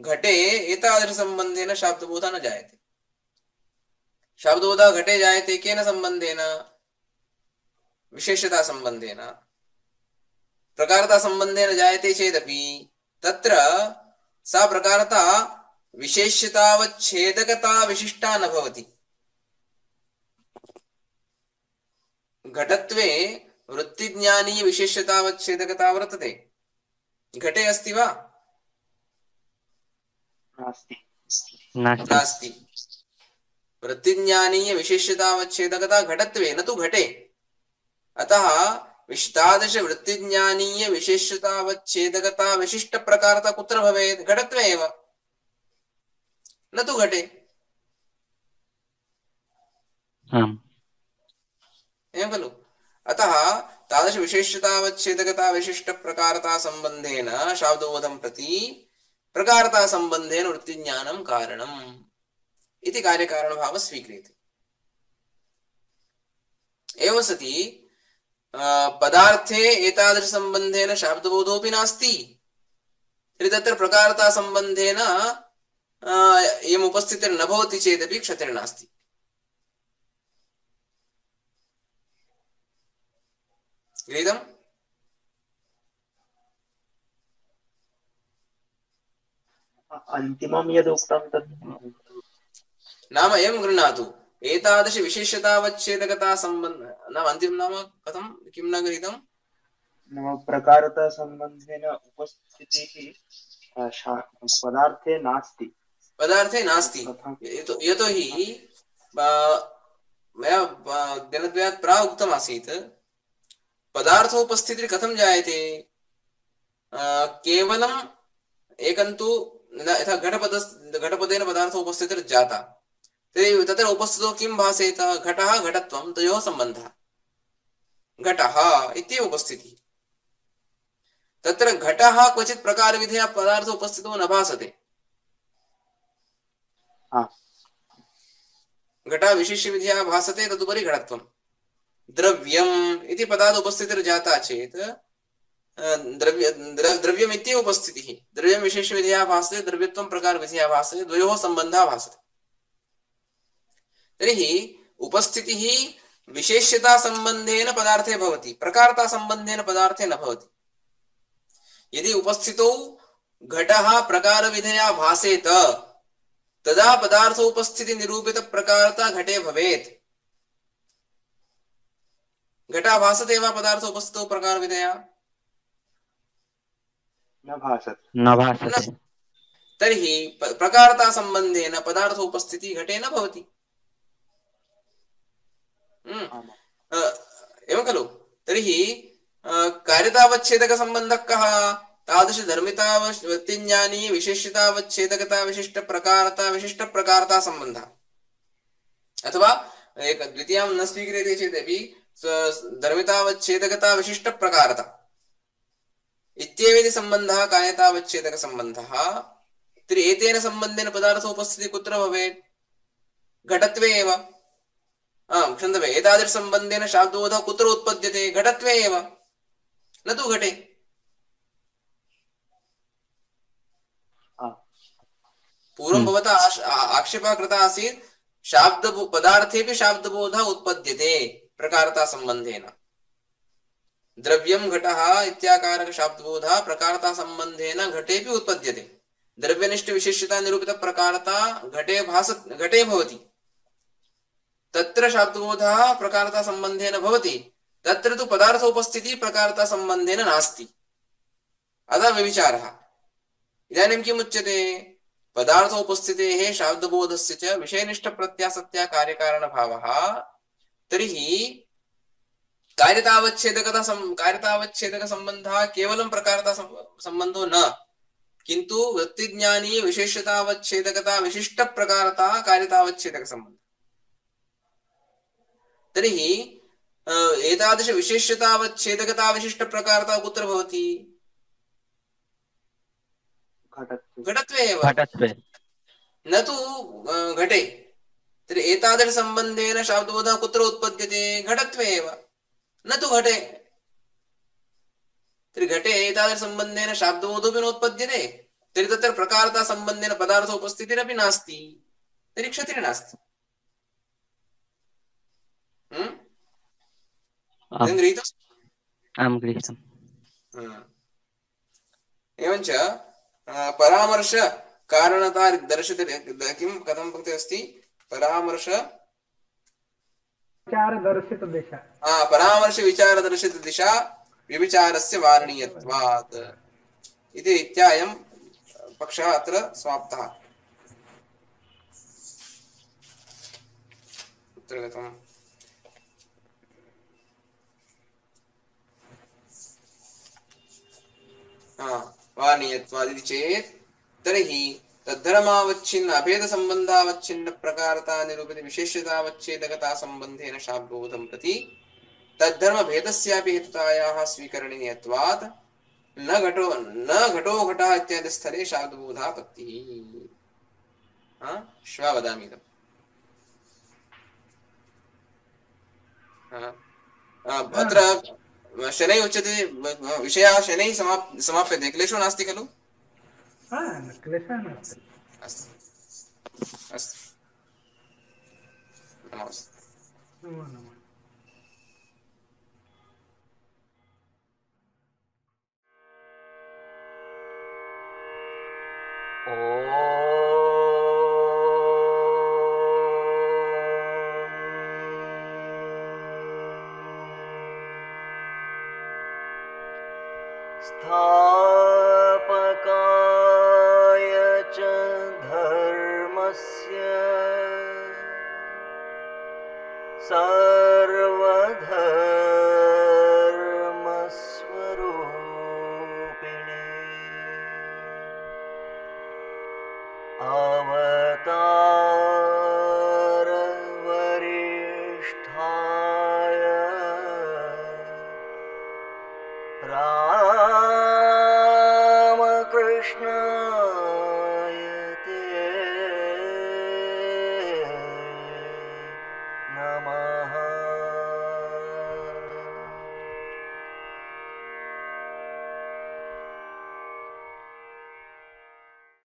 घटे एतादृशसम्बन्धेन शाब्दबोधः न जायते। शाब्दबोधः घटे जायते केन संबंधेन? विशेषता संबंधेन। प्रकारता संबंधेन जायते चेदपि तत्र सा प्रकारता विशेष्यतावच्छेदकता विशिष्टा न भवति। घटत्वे वृत्तिज्ञानीय विशेष्यतावच्छेदकता वर्तते, घटे अस्ति वा? नास्ति। वृत्तिज्ञानीय विशेष्यतावच्छेदकता घटत्वे न तु घटे। अतः तादृश वृत्तिज्ञानीय विशेष्यतावच्छेदकता विशिष्ट प्रकारता कुत्र भवेत्? घटत्वे एव, न तु घटे। एवं खलु? अतः तादृश विशेष्यतावच्छेदकता विशिष्ट प्रकारता संबंधेन शाब्दबोधं प्रति प्रकारता संबंधेन वृत्तिज्ञानं कारणम् इति कार्यकारणभावः स्वीक्रियते। एवं सति पदार्थे एतादृशसम्बन्धेन शाब्दबोधोऽपि नास्ति, तर्हि तत्र प्रकारता संबंधेन इयम् उपस्थितिर्न भवति चेदपि क्षतिर्नास्ति। गृहीतम्? अन्तिमं यद् उक्तं तत् नाम एवं गृह्णातु, एतादृश विशेष्यतावच्छेदकता संबंध नाम अन्तिमं नाम कथं किं न गृहीतं? नाम प्रकारता संबंधेन उपस्थितिः पदार्थे नास्ति। पदार्थे नास्ति यतोहि मया दिनद्वयात् प्राक् उक्तम् आसीत्, पदार्थोपस्थितिः कथं जायते? केवलम् एकन्तु यथा घटपदेन पदार्थोपस्थितिर्जाता, तर्हि तत्र उपस्थितौ किं भासेत? घटः घटत्वं, तयोः सम्बन्धः घटः इत्येव उपस्थितिः। तत्र घटः क्वचित् प्रकारविधया पदार्थोपस्थितौ न भासते। घटः विशिष्यविधया भासते, तदुपरि घटत्वं। द्रव्यम् इति पदात् उपस्थितिर्जाता चेत् द्रव्यम् इत्येव उपस्थितिः। द्रव्यं विशेषविधया भासते, द्रव्यत्वं प्रकारविधया भासते, द्वयोः सम्बन्धः भासते। तर्हि उपस्थितिः विशेष्यता संबंधेन पदार्थे भवति, प्रकारता संबंधेन पदार्थे न भवति। यदि उपस्थितौ घटः प्रकारविधया भासेत, तदा पदार्थोपस्थिति निरूपित प्रकारता घटे भवेत्। घटः भासते वा पदार्थोपस्थितौ प्रकारविधया? न भासते। तर्हि प्रकारता संबंधेन पदार्थोपस्थिति घटे न भवति। एवं खलु? तर्हि कार्यतावच्छेदक संबंधः कः? तादृश धर्मितावृत्तिज्ञानी विशेष्यतावच्छेदकता विशिष्ट प्रकारता संबंधः। अथवा एक द्वितीयां न स्वीक्रियते चेदपि धर्मितावच्छेदकता विशिष्ट प्रकारता इत्येवेति सम्बन्धः कार्यतावच्छेदक सम्बन्धः। तर्हि एतेन सम्बन्धेन पदार्थोपस्थितिः कुत्र भवेत्? घटत्वे एव। क्षन्तव्य, एतादृश सम्बन्धेन शाब्दबोधः कुत्र उत्पद्यते? घटत्वे एव, न तु घटे। पूर्वं भवता आक्षेपः कृतः आसीत् शाब्द पदार्थेपि शाब्दबोधः उत्पद्यते प्रकारता सम्बन्धेन द्रव्यं घटः इत्याकारक शाब्दबोधः प्रकारता सम्बन्धेन घटेपि उत्पद्यते द्रव्यनिष्ठ विशेष्यता निरूपित प्रकारता घटे भवति तत्र शाब्दबोधः प्रकारता सम्बन्धेन भवति तत्र तु पदार्थोपस्थितिः प्रकारता सम्बन्धेन नास्ति अतः व्यभिचारः इदानीं किम् उच्यते पदार्थोपस्थितेः शाब्दबोधस्य च विषयनिष्ठप्रत्यासत्या कार्यकारणभावः तर्हि कार्यतावच्छेदकसम्बन्धः केवलं प्रकारता सम्बन्धो न किन्तु वृत्तिज्ञानी विशेषतावच्छेदकता विशिष्टप्रकारता कार्यतावच्छेदकसम्बन्धः तर्हि एतादृश विशेष्यतावच्छेदकता विशिष्टप्रकारता कुत्र भवति घटत्वे एव न तु घटे तर्हि एतादृश सम्बन्धेन शाब्दबोधः कुत्र उत्पद्यते घटत्वे एव न तु घटे तर्हि घटे एतादृश सम्बन्धेन शाब्दबोधोऽपि नोत्पद्यते तर्हि तत्र प्रकारता सम्बन्धेन पदार्थोपस्थितिरपि नास्ति तर्हि क्षतिर्नास्ति एवञ्च परामर्श कारणता दर्शित किं कथं पङ्क्तिः अस्ति परामर्श विचारदर्शित दिशा परामर्श विचारदर्शित दिशा व्यभिचारस्य वारणीयत्वात् इति रीत्या अयं पक्षः अत्र समाप्तः कुत्र गतम् वारणीयत्वादिति चेत् तर्हि तद्धर्मावच्छिन्न अभेद संबंधावच्छिन्न प्रकारता निरूपित विशेष्यतावच्छेदकता संबंधेन शाब्दबोधं प्रति तद्धर्म भेदस्यापि हेतुतायाः स्वीकरणीयत्वात् न घटो घटः इत्यादि स्थले शाब्दबोधापत्तिः श्वः वदामि इदम् अत्र शनैः उच्यते विषयः शनैः समाप्यते क्लेशो नास्ति खलु क्लेशः नास्ति अस्तु अस्तु नमस्ते नमो नमः स्थापकाय च धर्मस्य